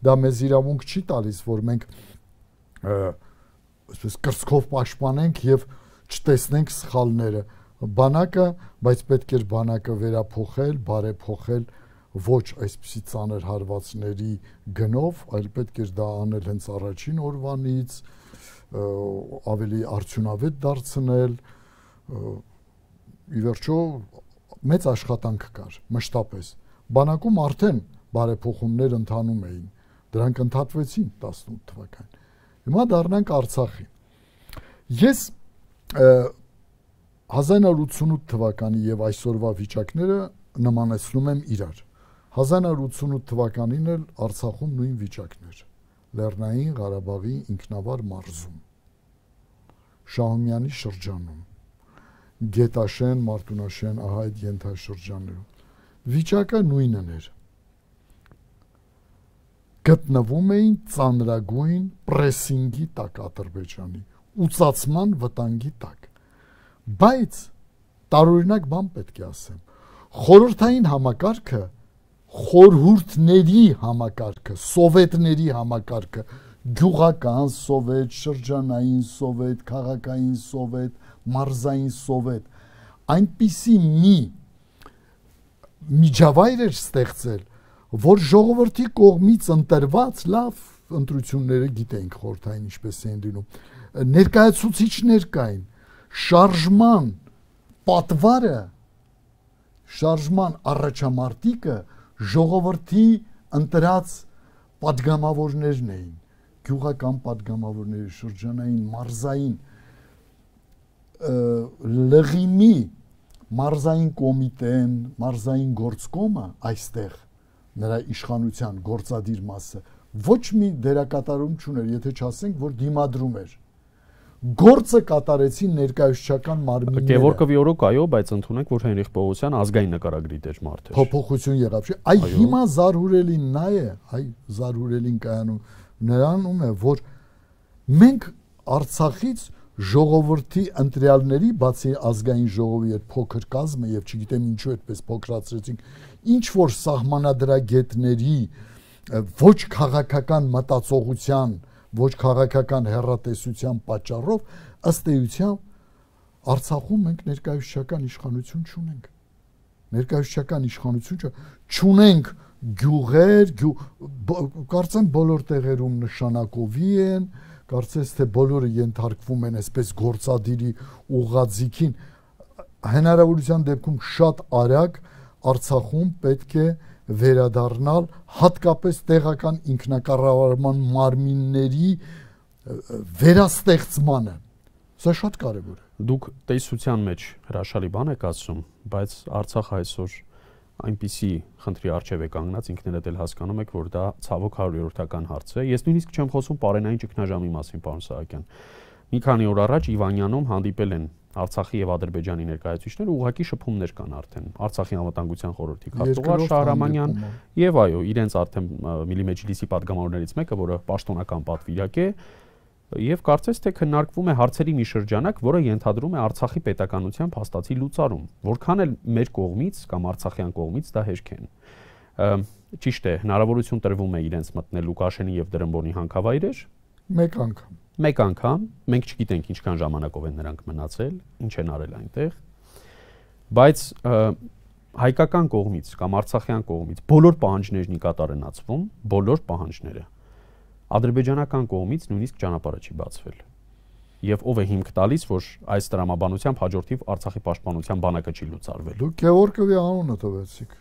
դա մեզ իրավունք չի տալիս, որ մենք այսպես կրծքով պաշտպանենք եւ չտեսնենք սխալները բանակը, բայց պետք էր բանակը վերափոխել, բարեփոխել ոչ այսպիսի ծանր հարվածների գնով, այլ պետք էր դա անել հենց առաջին օրվանից, ավելի արդյունավետ դարձնել, ի վերջո մեծ աշխատանք կար, մշտապես։ Բանակում արդեն բարեփոխումներ ընթանում էին, դրանք ընդհատվեցին տասնութ թվականին։ Հիմա դառնանք Արցախի։ Ես հազար նույնսուն ութ թվականի եւ այսօրվա վիճակները նմանեցնում եմ իրար։ հազար նույնսուն ութ թվականին էլ Արցախում նույն վիճակն էր։ Լեռնային Ղարաբաղի ինքնավար մարզում, Շահումյանի շրջանում, Գետաշեն, Մարտունաշեն, ահա այդ ենթաշրջաններում։ Վիճակը նույնն էր։ Գտնվում էին ծանրագույն պրեսինգի տակ Ադրբեջանի, ուծացման վտանգի տակ։ Բայց տարօրինակ բան պետք է ասեմ, խորհրդային համակարգը, խորհուրդների համակարգը, սովետների համակարգը, գյուղական սովետ, շրջանային սովետ, քաղաքային սովետ, մարզային սովետ, այնպիսի մի միջավայր էր ստեղծել, որ ժողովրդի կողմից ընտրված լավ ընտրությունները գիտենք խորհրդային ինչպես են լինում, ներկայացուցիչներ կային, շարժման պատվարը, շարժման առաջամարտիկը ժողովրդի ընտրած պատգամավորներն էին, գյուղական պատգամավորների, շրջանային, մարզային, լղիմի մարզային կոմիտեն, մարզային գործկոմը այստեղ նրա իշխանության գործադիր մասը ոչ մի դերակատարում չուներ, եթե չասենք, որ դիմադրում էր։ Գործը կատարեցին ներկայացուցչական մարմինները։ Գևորգովի օրոք այո, բայց ընդունենք, որ Հենրիխ Պողոսյան ազգային նկարագրի դեր մարդ էր։ Փոփոխություն եղավ, չէ՞։ Այ հիմա զարհուրելին նա է, այ զարհուրելին կայանում նրանում է, որ մենք Արցախից ժողովրդի ընտրյալների, բացի ազգային ժողովի այդ փոքր կազմը եւ չգիտեմ ինչու այդպես փոքրացրեցինք, ինչ որ սահմանադրագետների ոչ քաղաքական մտածողության, ոչ քաղաքական հեռատեսության պատճառով ըստ էության Արցախում մենք ներկայացուցչական իշխանություն չունենք։ Ներկայացուցչական իշխանություն չունենք գյուղեր, կարծեմ բոլոր տեղերում նշանակովի են, կարծես թե բոլորը ենթարկվում են այսպես գործադիրի ուղղաձիգին, հնարավորության դեպքում շատ արագ Արցախում պետք է վերադառնալ հատկապես տեղական ինքնակառավարման մարմինների վերաստեղծմանը։ Սա շատ կարևոր է։ Դուք տեսության մեջ հրաշալի բան եք ասում, բայց Արցախը այսօր այնպիսի խնդրի առջև է կանգնած, ինքներդ էլ հասկանում եք, որ դա ցավոք հարյուրորդական հարց է։ Ես նույնիսկ չեմ խոսում պարենային ճգնաժամի մասին, պարոն Սահակյան։ Մի քանի օր առաջ Իվանյանում հանդիպել են Արցախի եւ Ադրբեջանի ներկայացուցիչները, ուղղակի շփումներ կան արդեն։ Արցախի անվտանգության խորհրդի քարտուղար Շահրամանյան եւ այո, իրենց արդեն Միլի Մեջլիսի падգամավորներից մեկը, որը պաշտոնական պատվիրակ է, եւ կարծես թե քննարկվում է հարցերի մի շրջանակ, որը ենթադրում է Արցախի պետականության փաստացի լուծարում։ Որքան էլ մեր կողմից կամ արցախյան կողմից դա հեշտ են։ Ճիշտ է, հնարավորություն տրվում է իրենց մտնել Լուկաշենի եւ Դրամբոնի հանքավայրեր մեկ անգամ։ Մեկ անգամ, մենք չգիտենք ինչքան ժամանակով են նրանք մնացել, ինչ են արել այնտեղ, բայց հայկական կողմից կամ արցախյան կողմից բոլոր պահանջներն ի կատար են ածվում, բոլոր պահանջները։ Ադրբեջանական կողմից նույնիսկ ճանապարհը չի բացվել։ Եվ ով է հիմք տալիս, որ այս տրամաբանությամբ հաջորդիվ Արցախի պաշտպանության բանակը չի լուծարվել։ Դուք Գևորգովի անունը տվեցիք։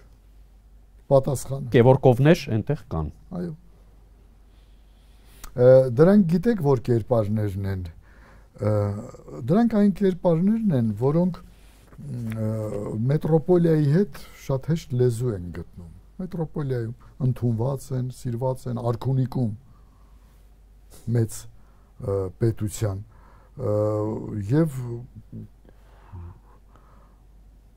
Պատասխանը։ Գևորգովներ այնտեղ կան։ Այո։ Դրանք գիտեք որ կերպարներն են, դրանք այն կերպարներն են, որոնք մետրոպոլիայի հետ շատ հեշտ լեզու են գտնում։ Մետրոպոլիայում ընդունված են, սիրված են, Արքունիքում մեծ պետության եւ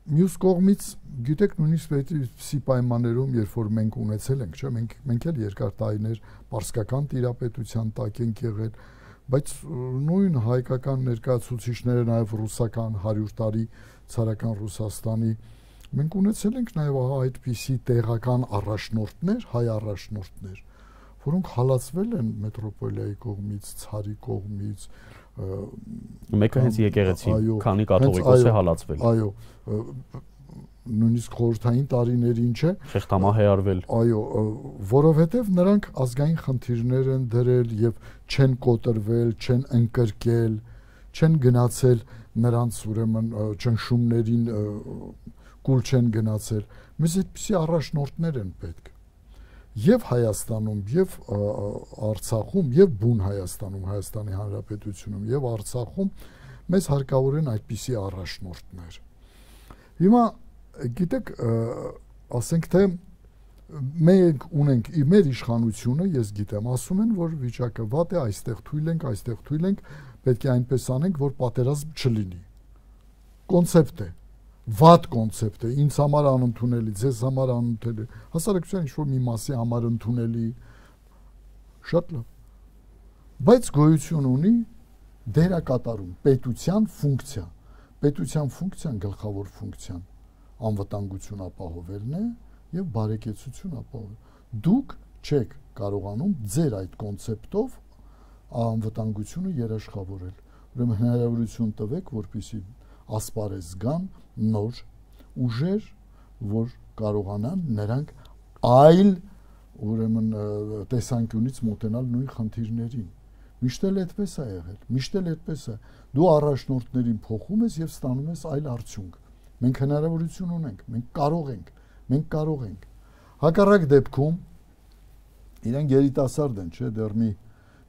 մյուս կողմից գիտեք նույնիսկ այդպիսի պայմաններում, երբ որ մենք ունեցել ենք, չէ, մենք մենք էլ երկար տարիներ պարսկական տիրապետության տակ ենք եղել, բայց նույն հայկական ներկայացուցիչները, նաև ռուսական հարյուր տարի ցարական Ռուսաստանի, մենք ունեցել ենք նաև այդպիսի տեղական առաջնորդներ, հայ առաջնորդներ, որոնք հալածվել են մետրոպոլիայի կողմից, ցարի կողմից, մեկը հենց եկեղեցի, քանի կաթողիկոս է հալածվել։ Այո, նույնիսկ խորհրդային տարիներին չէ, խեղդամահերվել։ Այո, որովհետև նրանք ազգային խնդիրներ են դրել եւ չեն կոտրվել, չեն ընկրկել, չեն գնացել նրանց ուրեմն ճնշումներին կուլ չեն գնացել։ Մեզ այդպիսի առաջնորդներ են պետք։ Եվ Հայաստանում, եւ Արցախում, եւ բուն Հայաստանում, Հայաստանի Հանրապետությունում, եւ Արցախում մեզ հարկավոր են այդպիսի առաջնորդներ։ Հիմա գիտեք, ասենք թե մենք ունենք մեր իշխանությունը, ես գիտեմ, ասում են, որ վիճակը վատ է, այստեղ թույլ ենք, այստեղ թույլ ենք, պետք է այնպես անենք, որ պատերազմ չլինի։ Կոնցեպտ է, վատ կոնցեպտ է, ինձ համար անընդունելի, ձեզ համար անընդունելի, հասարակության ինչ-որ մի մասի համար ընդունելի, շատ լավ։ Բայց գոյություն ունի դերակատարում, պետության ֆունկցիա։ Պետության ֆունկցիան, գլխավոր ֆունկցիան անվտանգություն ապահովելն է եւ բարեկեցություն ապահովել։ Դուք չեք կարողանում ձեր այդ կոնցեպտով անվտանգությունը երաշխավորել։ Ուրեմն հնարավորություն տվեք, որպեսզի ասպարեզ գան նոր ուժեր, որ կարողանան նրանք այլ ուրեմն տեսանկյունից մոտենալ նույն խնդիրներին։ Միշտ էլ այդպես է եղել, միշտ էլ այդպես է։ Դու առաջնորդներին փոխում ես եւ ստանում ես այլ արդյունք։ Մենք հնարավորություն ունենք, մենք կարող ենք, մենք կարող ենք։ Հակառակ դեպքում իրենք երիտասարդ են, չէ, դեռ մի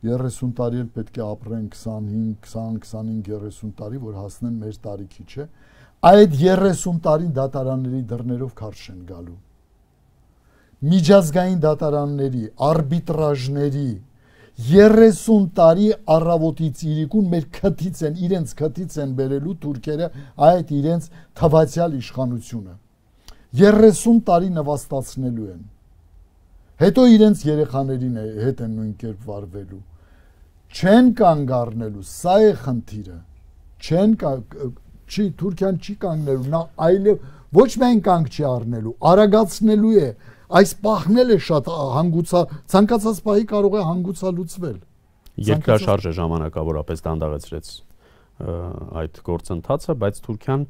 երեսուն տարի էլ պետք է ապրեն քսանհինգ, քսան, քսանհինգ, երեսուն տարի, որ հասնեն մեր տարիքի, չէ։ Այդ երեսուն տարին դատարանների դռներով քարշ են գալու։ Միջազգային դատարանների, արբիտրաժների երեսուն տարի առավոտից իրիկուն մեր քթից են, իրենց քթից են բերելու թուրքերը այդ իրենց թվացյալ իշխանությունը։ երեսուն տարի նվաստացնելու են։ Հետո իրենց երեխաներին հետ են նույն կերպ վարվելու։ Չեն կանգ առնելու, սա է խնդիրը։ Չեն չի Թուրքիան չի կանգնելու, նա այլև ոչ միայն կանգ չի առնելու, արագացնելու է, այս պահնել է շատ հանգուցա, ցանկացած պահի կարող է հանգուցալուծվել։ Երկրաշարժը ժամանակավորապես դանդաղեցրեց այդ գործընթացը, բայց Թուրքիան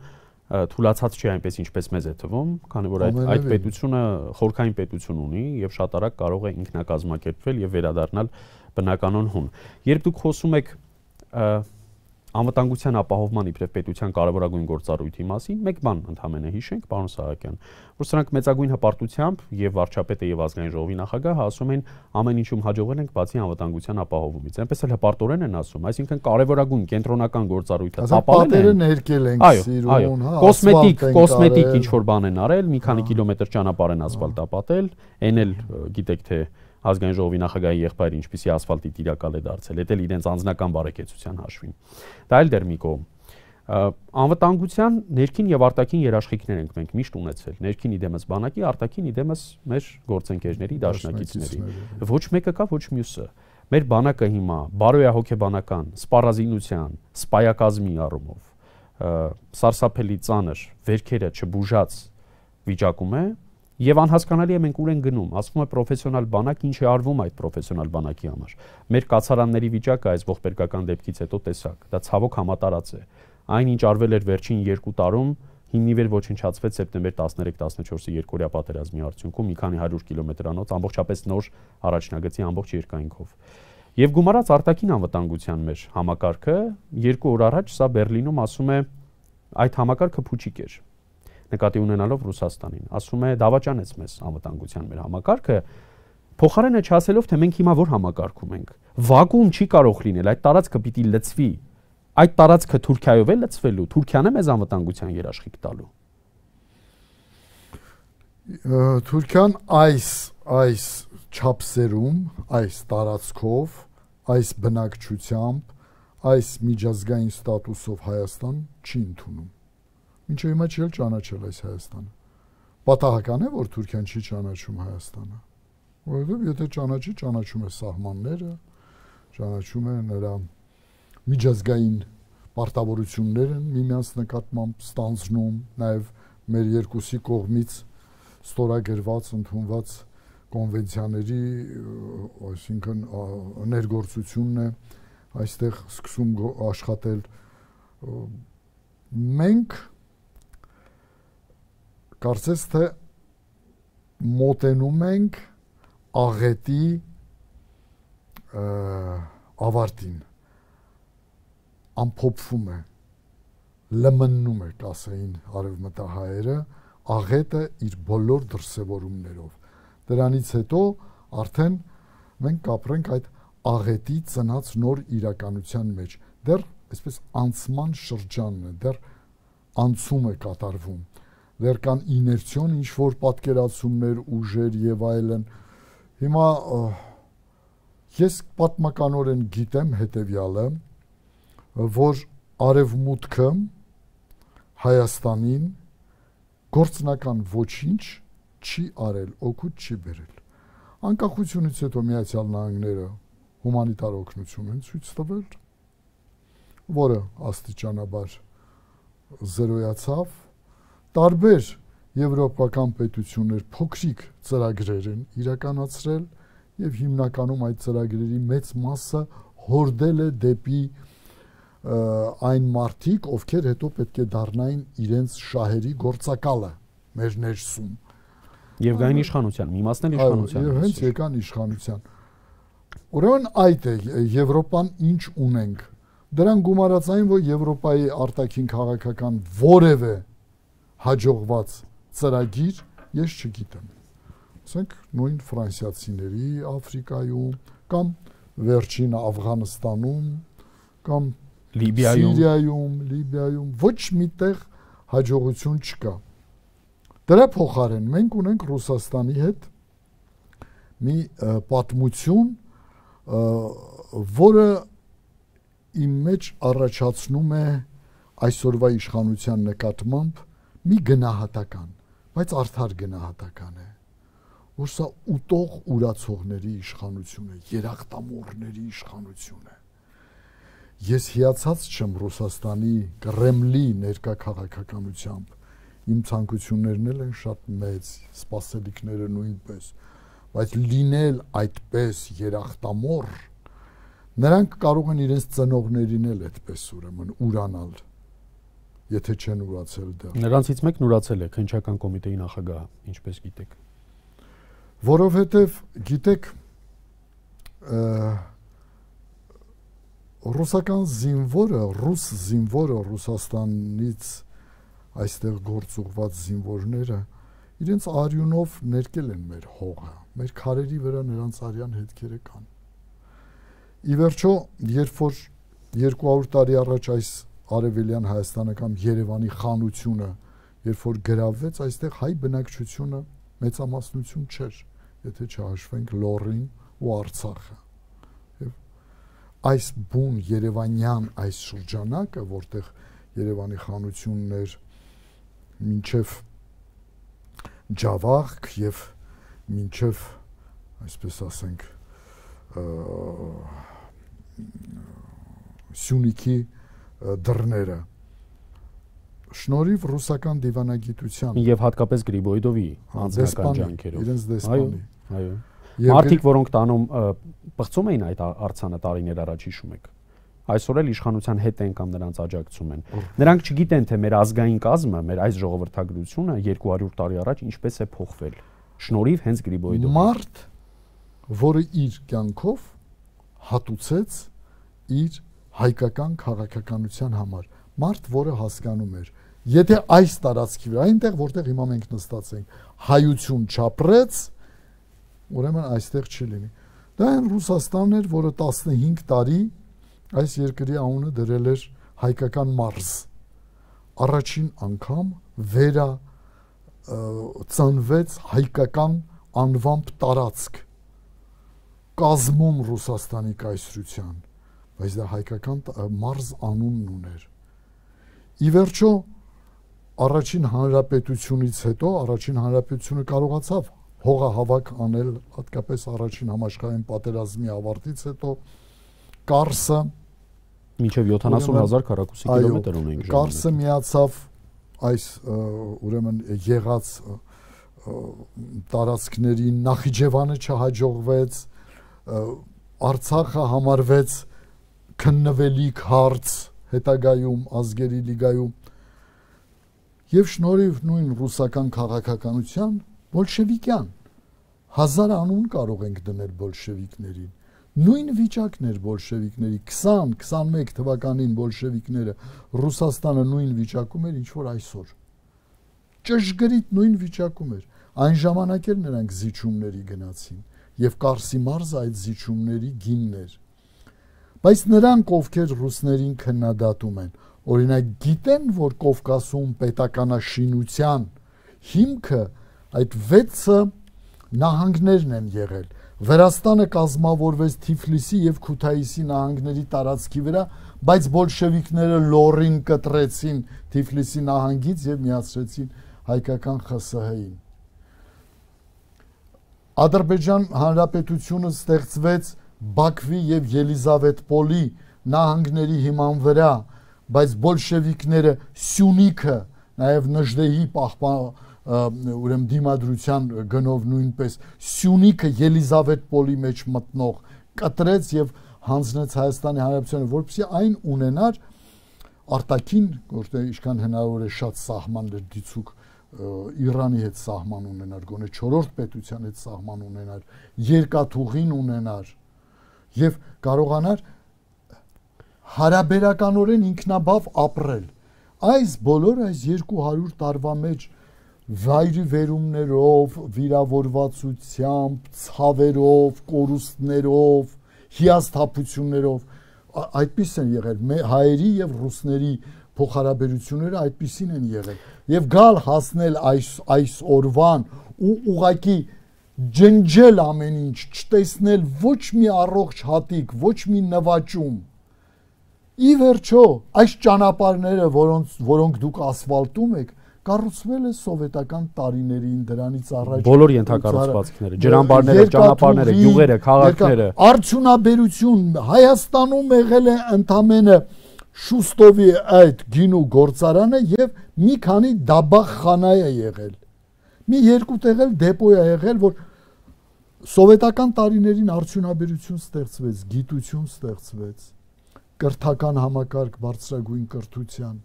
թուլացած չի այնպես ինչպես մեզ է թվում, քանի որ այդ այդ պետությունը խորքային պետություն ունի եւ շատ արագ կարող է ինքնակազմակերպվել եւ վերադառնալ բնականon հուն։ Երբ դուք խոսում եք անվտանգության ապահովման իբրև պետության կարևորագույն գործառույթի մասին, մեկ բան ընդհանրապես հիշենք, պարոն Սահակյան, որ սրանք մեծագույն հպարտությամբ եւ վարչապետը եւ ազգային ժողովի նախագահը ասում են ամեն ինչում հաջողվել ենք բացի անվտանգության ապահովումից։ Այնպես էլ հպարտորեն են ասում, այսինքն կարևորագույն կենտրոնական գործառույթը ապահովել են, ներկել են սիրուն, հա, կոսմետիկ, կոսմետիկ ինչ որ բան են արել, մի քանի կիլոմետր ճանապարհ են ասֆալտապատել, այն էլ գիտեք թե ազգային ժողովի նախագահի եղբայրը ինչպիսի ասֆալտի տիրակալ է դարձել, դա էլ իրենց անձնական բարեկեցության հաշվին։ Դա էլ դեռ մի կողմ։ Անվտանգության ներքին եւ արտաքին երաշխիքներ ենք մենք միշտ ունեցել։ Ներքին իդեմս բանակի, արտաքին իդեմս մեր գործընկերների, դաշնակիցների։ Ոչ մեկը կա, ոչ մյուսը։ Մեր բանակը հիմա բարոյահոգեբանական, սպառազինության, սպայակազմի առումով սարսափելի ծանր վերքերը չբուժած վիճակում է։ Եվ անհասկանալի է մենք ուր են գնում, ասվում է պրոֆեսիոնալ բանակ, ինչ է արվում այդ պրոֆեսիոնալ բանակի համար։ Մեր կացարանների վիճակը այս ողբերգական դեպքից հետո տեսակ, դա ցավոք համատարած է։ Այն ինչ արվել էր վերջին երկու տարում, հիմնիվեր ոչնչացվեց սեպտեմբեր տասներեք տասնչորսի երկօրյա պատերազմի արդյունքում մի քանի հարյուր կիլոմետրանոց ամբողջապես նոր առաջնագծի ամբողջ երկայնքով։ Եվ գումարած արտաքին անվտանգության մեր համակարգը երկու օր առաջ սա Բերլինում ասում է այդ համակարգը փուչիկ էր։ Նկատի ունենալով Ռուսաստանին, ասում է դավաճանեց մեզ անվտանգության մեր համակարգը, փոխարենը չասելով թե մենք հիմա որ համակարգում ենք։ Վակուում չի կարող լինել, այդ տարածքը պիտի լցվի։ Այդ տարածքը Թուրքիայով է լցվելու, Թուրքիան է մեզ անվտանգության երաշխիք տալու։ Թուրքիան այս այս չափսերում, այս տարածքով, այս բնակչությամբ, այս միջազգային ստատուսով Հայաստան չի ընդունում։ Ինչու հիմա չի ճանաչել այս Հայաստանը։ Պատահական է, որ Թուրքիան չի ճանաչում Հայաստանը։ Որովհետև եթե ճանաչի, ճանաչում է սահմանները, ճանաչում է նրա միջազգային պարտավորությունները միմյանց նկատմամբ ստանձնում, նաև մեր երկուսի կողմից ստորագրված, ընդունված կոնվենցիաների, այսինքն ներգործությունն է այստեղ սկսում աշխատել։ Մենք կարծես թե մոտենում ենք աղետի ավարտին, ամփոփվում է, լմննում է, կասեին արևմտահայերը, աղետը իր բոլոր դրսևորումներով։ Դրանից հետո արդեն մենք կապրենք այդ աղետի ծնած նոր իրականության մեջ։ Դեռ այսպես անցման շրջանն է, դեռ անցում է կատարվում։ Դեռ կան իներցիոն ինչ-որ պատկերացումներ, ուժեր եւ այլն։ Հիմա ես պատմականորեն գիտեմ հետեւյալը, որ արևմուտքը Հայաստանին գործնական ոչինչ չի արել, օգուտ չի բերել։ Անկախությունից հետո Միացյալ Նահանգները հումանիտար օգնություն են ցույց տվել, որը աստիճանաբար զրոյացավ։ Տարբեր եվրոպական պետություններ փոքրիկ ծրագրեր են իրականացրել եւ հիմնականում այդ ծրագրերի մեծ մասը հորդել է դեպի այն մարդիկ, ովքեր հետո պետք է դառնային իրենց շահերի գործակալը մեր ներսում։ Եվ գային իշխանության, մի մասն էլ իշխանության։ Եվ հենց եկան իշխանության։ Ուրեմն այդ է Եվրոպան ինչ ունենք։ Դրան գումարած այն, որ Եվրոպայի արտաքին քաղաքական որևէ հաջողված ծրագիր ես չգիտեմ։ Ասենք նույն ֆրանսիացիների Աֆրիկայում կամ վերջին Աֆղանստանում կամ Լիբիայում, Սիրիայում, Լիբիայում ոչ միտեղ հաջողություն չկա։ Դրա փոխարեն մենք ունենք Ռուսաստանի հետ մի պատմություն, որը իմ մեջ առաջացնում է այսօրվա իշխանության նկատմամբ մի գնահատական, բայց արդար գնահատական է, որ սա ուտող ուրացողների իշխանություն է, երախտամոռների իշխանություն է։ Ես հիացած չեմ Ռուսաստանի Կրեմլի ներկա քաղաքականությամբ, իմ ցանկություններն էլ են շատ մեծ, սպասելիքները նույնպես, բայց լինել այդպես երախտամոռ, նրանք կարող են իրենց ծնողներին էլ այդպես ուրեմն ուրանալ, եթե չեն ուրացել դեռ։ Նրանցից մեկն ուրացել է, քննչական կոմիտեի նախագահը, ինչպես գիտեք։ Որովհետև գիտեք, ռուսական զինվորը, ռուս զինվորը, Ռուսաստանից այստեղ գործուղված զինվորները իրենց արյունով ներկել են մեր հողը, մեր քարերի վրա նրանց արյան հետքերը կան։ Ի վերջո, երբ որ երկու հարյուր տարի առաջ այս Արևելյան Հայաստանը կամ Երևանի խանությունը, երբ որ գրավվեց, այստեղ հայ բնակչությունը մեծամասնություն չէր, եթե չհաշվենք Լոռին ու Արցախը։ Եվ այս բուն Երևանյան այս շրջանակը, որտեղ Երևանի խանությունն էր մինչև Ջավախք եւ մինչև, այսպես ասենք, Սյունիքի դռները, շնորհիվ ռուսական դիվանագիտության եւ հատկապես Գրիբոյդովի անձնական ջանքերով, իրենց դեսպանի, այո, մարդիկ, որոնք տանում պղծում էին այդ արձանը տարիներ առաջ, հիշում եք, այսօր էլ իշխանության հետ են կամ նրանց աջակցում են։ Նրանք չգիտեն, թե մեր ազգային կազմը, մեր այս ժողովրդագրությունը երկու հարյուր տարի առաջ ինչպես է փոխվել, շնորհիվ հենց Գրիբոյդովի։ Մարդ, որը իր կյանքով հատուցեց իր հայկական քաղաքականության համար, մարդ, որը հասկանում էր, եթե այս տարածքի վրա, այնտեղ որտեղ հիմա մենք նստած ենք, հայություն չապրեց, ուրեմն այստեղ չի լինի։ Դա այն Ռուսաստանն էր, որը տասնհինգ տարի այս երկրի անունը դրել էր հայկական մարզ։ Առաջին անգամ վերա ծնվեց հայկական անվամբ տարածք կազմում Ռուսաստանի կայսրության, բայց դա հայկական մարզ անունն ուներ։ Ի վերջո, առաջին հանրապետությունից հետո, առաջին հանրապետությունը կարողացավ հողահավաք անել, հատկապես առաջին համաշխարհային պատերազմի ավարտից հետո, Կարսը մինչև յոթանասուն հազար քառակուսի կիլոմետր ունենք։ Կարսը միացավ այս ուրեմն եղած տարածքներին, Նախիջևանը չհաջողվեց, Արցախը համարվեց քննվելիք հարց հետագայում ազգերի լիգայում եւ շնորհիվ նույն ռուսական քաղաքականության բոլշևիկյան հազար անուն կարող ենք դնել բոլշևիկներին։ Նույն վիճակն էր բոլշևիկների քսան քսանմեկ թվականին բոլշևիկները Ռուսաստանը նույն վիճակում էր, ինչ որ այսօր։ Ճշգրիտ նույն վիճակում էր։ Այն ժամանակ էլ նրանք զիջումների գնացին եւ Կարսի մարզը այդ զիջումների գինն էր։ Բայց նրանք, ովքեր ռուսներին քննադատում են, օրինակ գիտեն, որ Կովկասում պետականաշինության հիմքը այդ վեցը նահանգներն են եղել։ Վրաստանը կազմավորվեց Թիֆլիսի եւ Քութայիսի նահանգների տարածքի վրա, բայց բոլշևիկները Լոռին կտրեցին Թիֆլիսի նահանգից եւ միացրեցին հայկական ԽՍՀ-ին։ Ադրբեջան հանրապետությունը ստեղծվեց Բաքվի եւ Ելիզավետպոլի նահանգների հիման վրա, բայց բոլշևիկները Սյունիքը, նաեւ Նժդեհի պահպան ուրեմն դիմադրության գնով նույնպես Սյունիքը Ելիզավետպոլի մեջ մտնող կտրեց եւ հանձնեց Հայաստանի Հանրապետությանը, որպեսզի այն ունենար արտաքին, որտեղ ինչքան հնարավոր է շատ սահմաններ դիցուկ Իրանի հետ սահման ունենար, գոնե չորրորդ պետության հետ սահման ունենար, երկաթուղին ունենար եւ կարողանար հարաբերականորեն ինքնաբավ ապրել։ Այս բոլոր այս երկու հարյուր տարվա մեջ վայրի վերումներով, վիրավորվածությամբ, ցավերով, կորուստներով, հիասթափություններով, այդպես են եղել հայերի եւ ռուսների փոխհարաբերությունները այդպեսին են եղել եւ գալ հասնել այս այս օրվան ու ուղակի ջնջել ամեն ինչ, չտեսնել ոչ մի առողջ հատիկ, ոչ մի նվաճում։ Ի վերջո, այս ճանապարհները, որոնց որոնք դուք ասֆալտում եք, կառուցվել է սովետական տարիներին, դրանից առաջ բոլոր ենթակառուցվածքները, ջրամբարները, ճանապարհները, գյուղերը, քաղաքները, արդյունաբերություն Հայաստանում եղել է ընդամենը Շուստովի այդ գինու գործարանը եւ մի քանի դաբախանա է եղել։ Մի երկու տեղ էլ դեպո է եղել, որ սովետական տարիներին արդյունաբերություն ստեղծվեց, գիտություն ստեղծվեց, կրթական համակարգ բարձրագույն կրթության։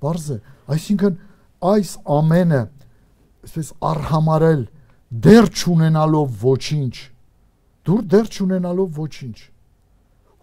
Բարձ է, այսինքն այս ամենը, այսպես արհամարել, դեռ չունենալով ոչինչ, դուր դեռ չունենալով ոչինչ,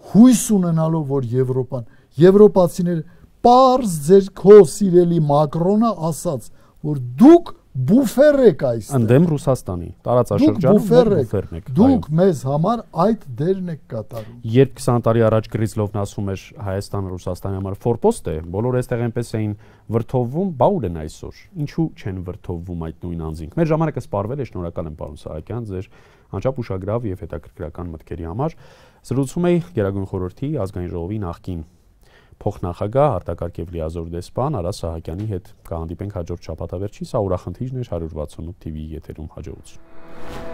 հույս ունենալով, որ Եվրոպան, եվրոպացիները, պարզ ձեր քո սիրելի Մակրոնը ասաց, որ դուք բուֆեր եք այստեղ։ Ընդդեմ Ռուսաստանի, տարածաշրջանում բուֆերն եք։ Դուք մեզ համար այդ դերն եք կատարում։ Երբ քսան տարի առաջ Գրիզլովն ասում էր Հայաստանը Ռուսաստանի համար ֆորպոստ է, բոլորը այստեղ այնպես էին վրթովվում, բա ուր են այսօր։ Ինչու չեն վրթովվում այդ նույն անձինք։ Մեր ժամանակը սպառվել է, շնորհակալ եմ պարոն Սահակյան, ձեր անչափ ուշագրավ եւ հետաքրքրական մտքերի համար։ Զրուցում էի Գերագույն խորհրդի ազգային ժողովի նախկին փոխնախագահ արտակարգ եւ լիազոր դեսպան Արա Սահակյանի հետ կհանդիպենք հաջորդ շաբաթավերջին։ Սա ուրախնդիրն էր հարյուր վաթսունութ թիվի եթերում, հաջողություն։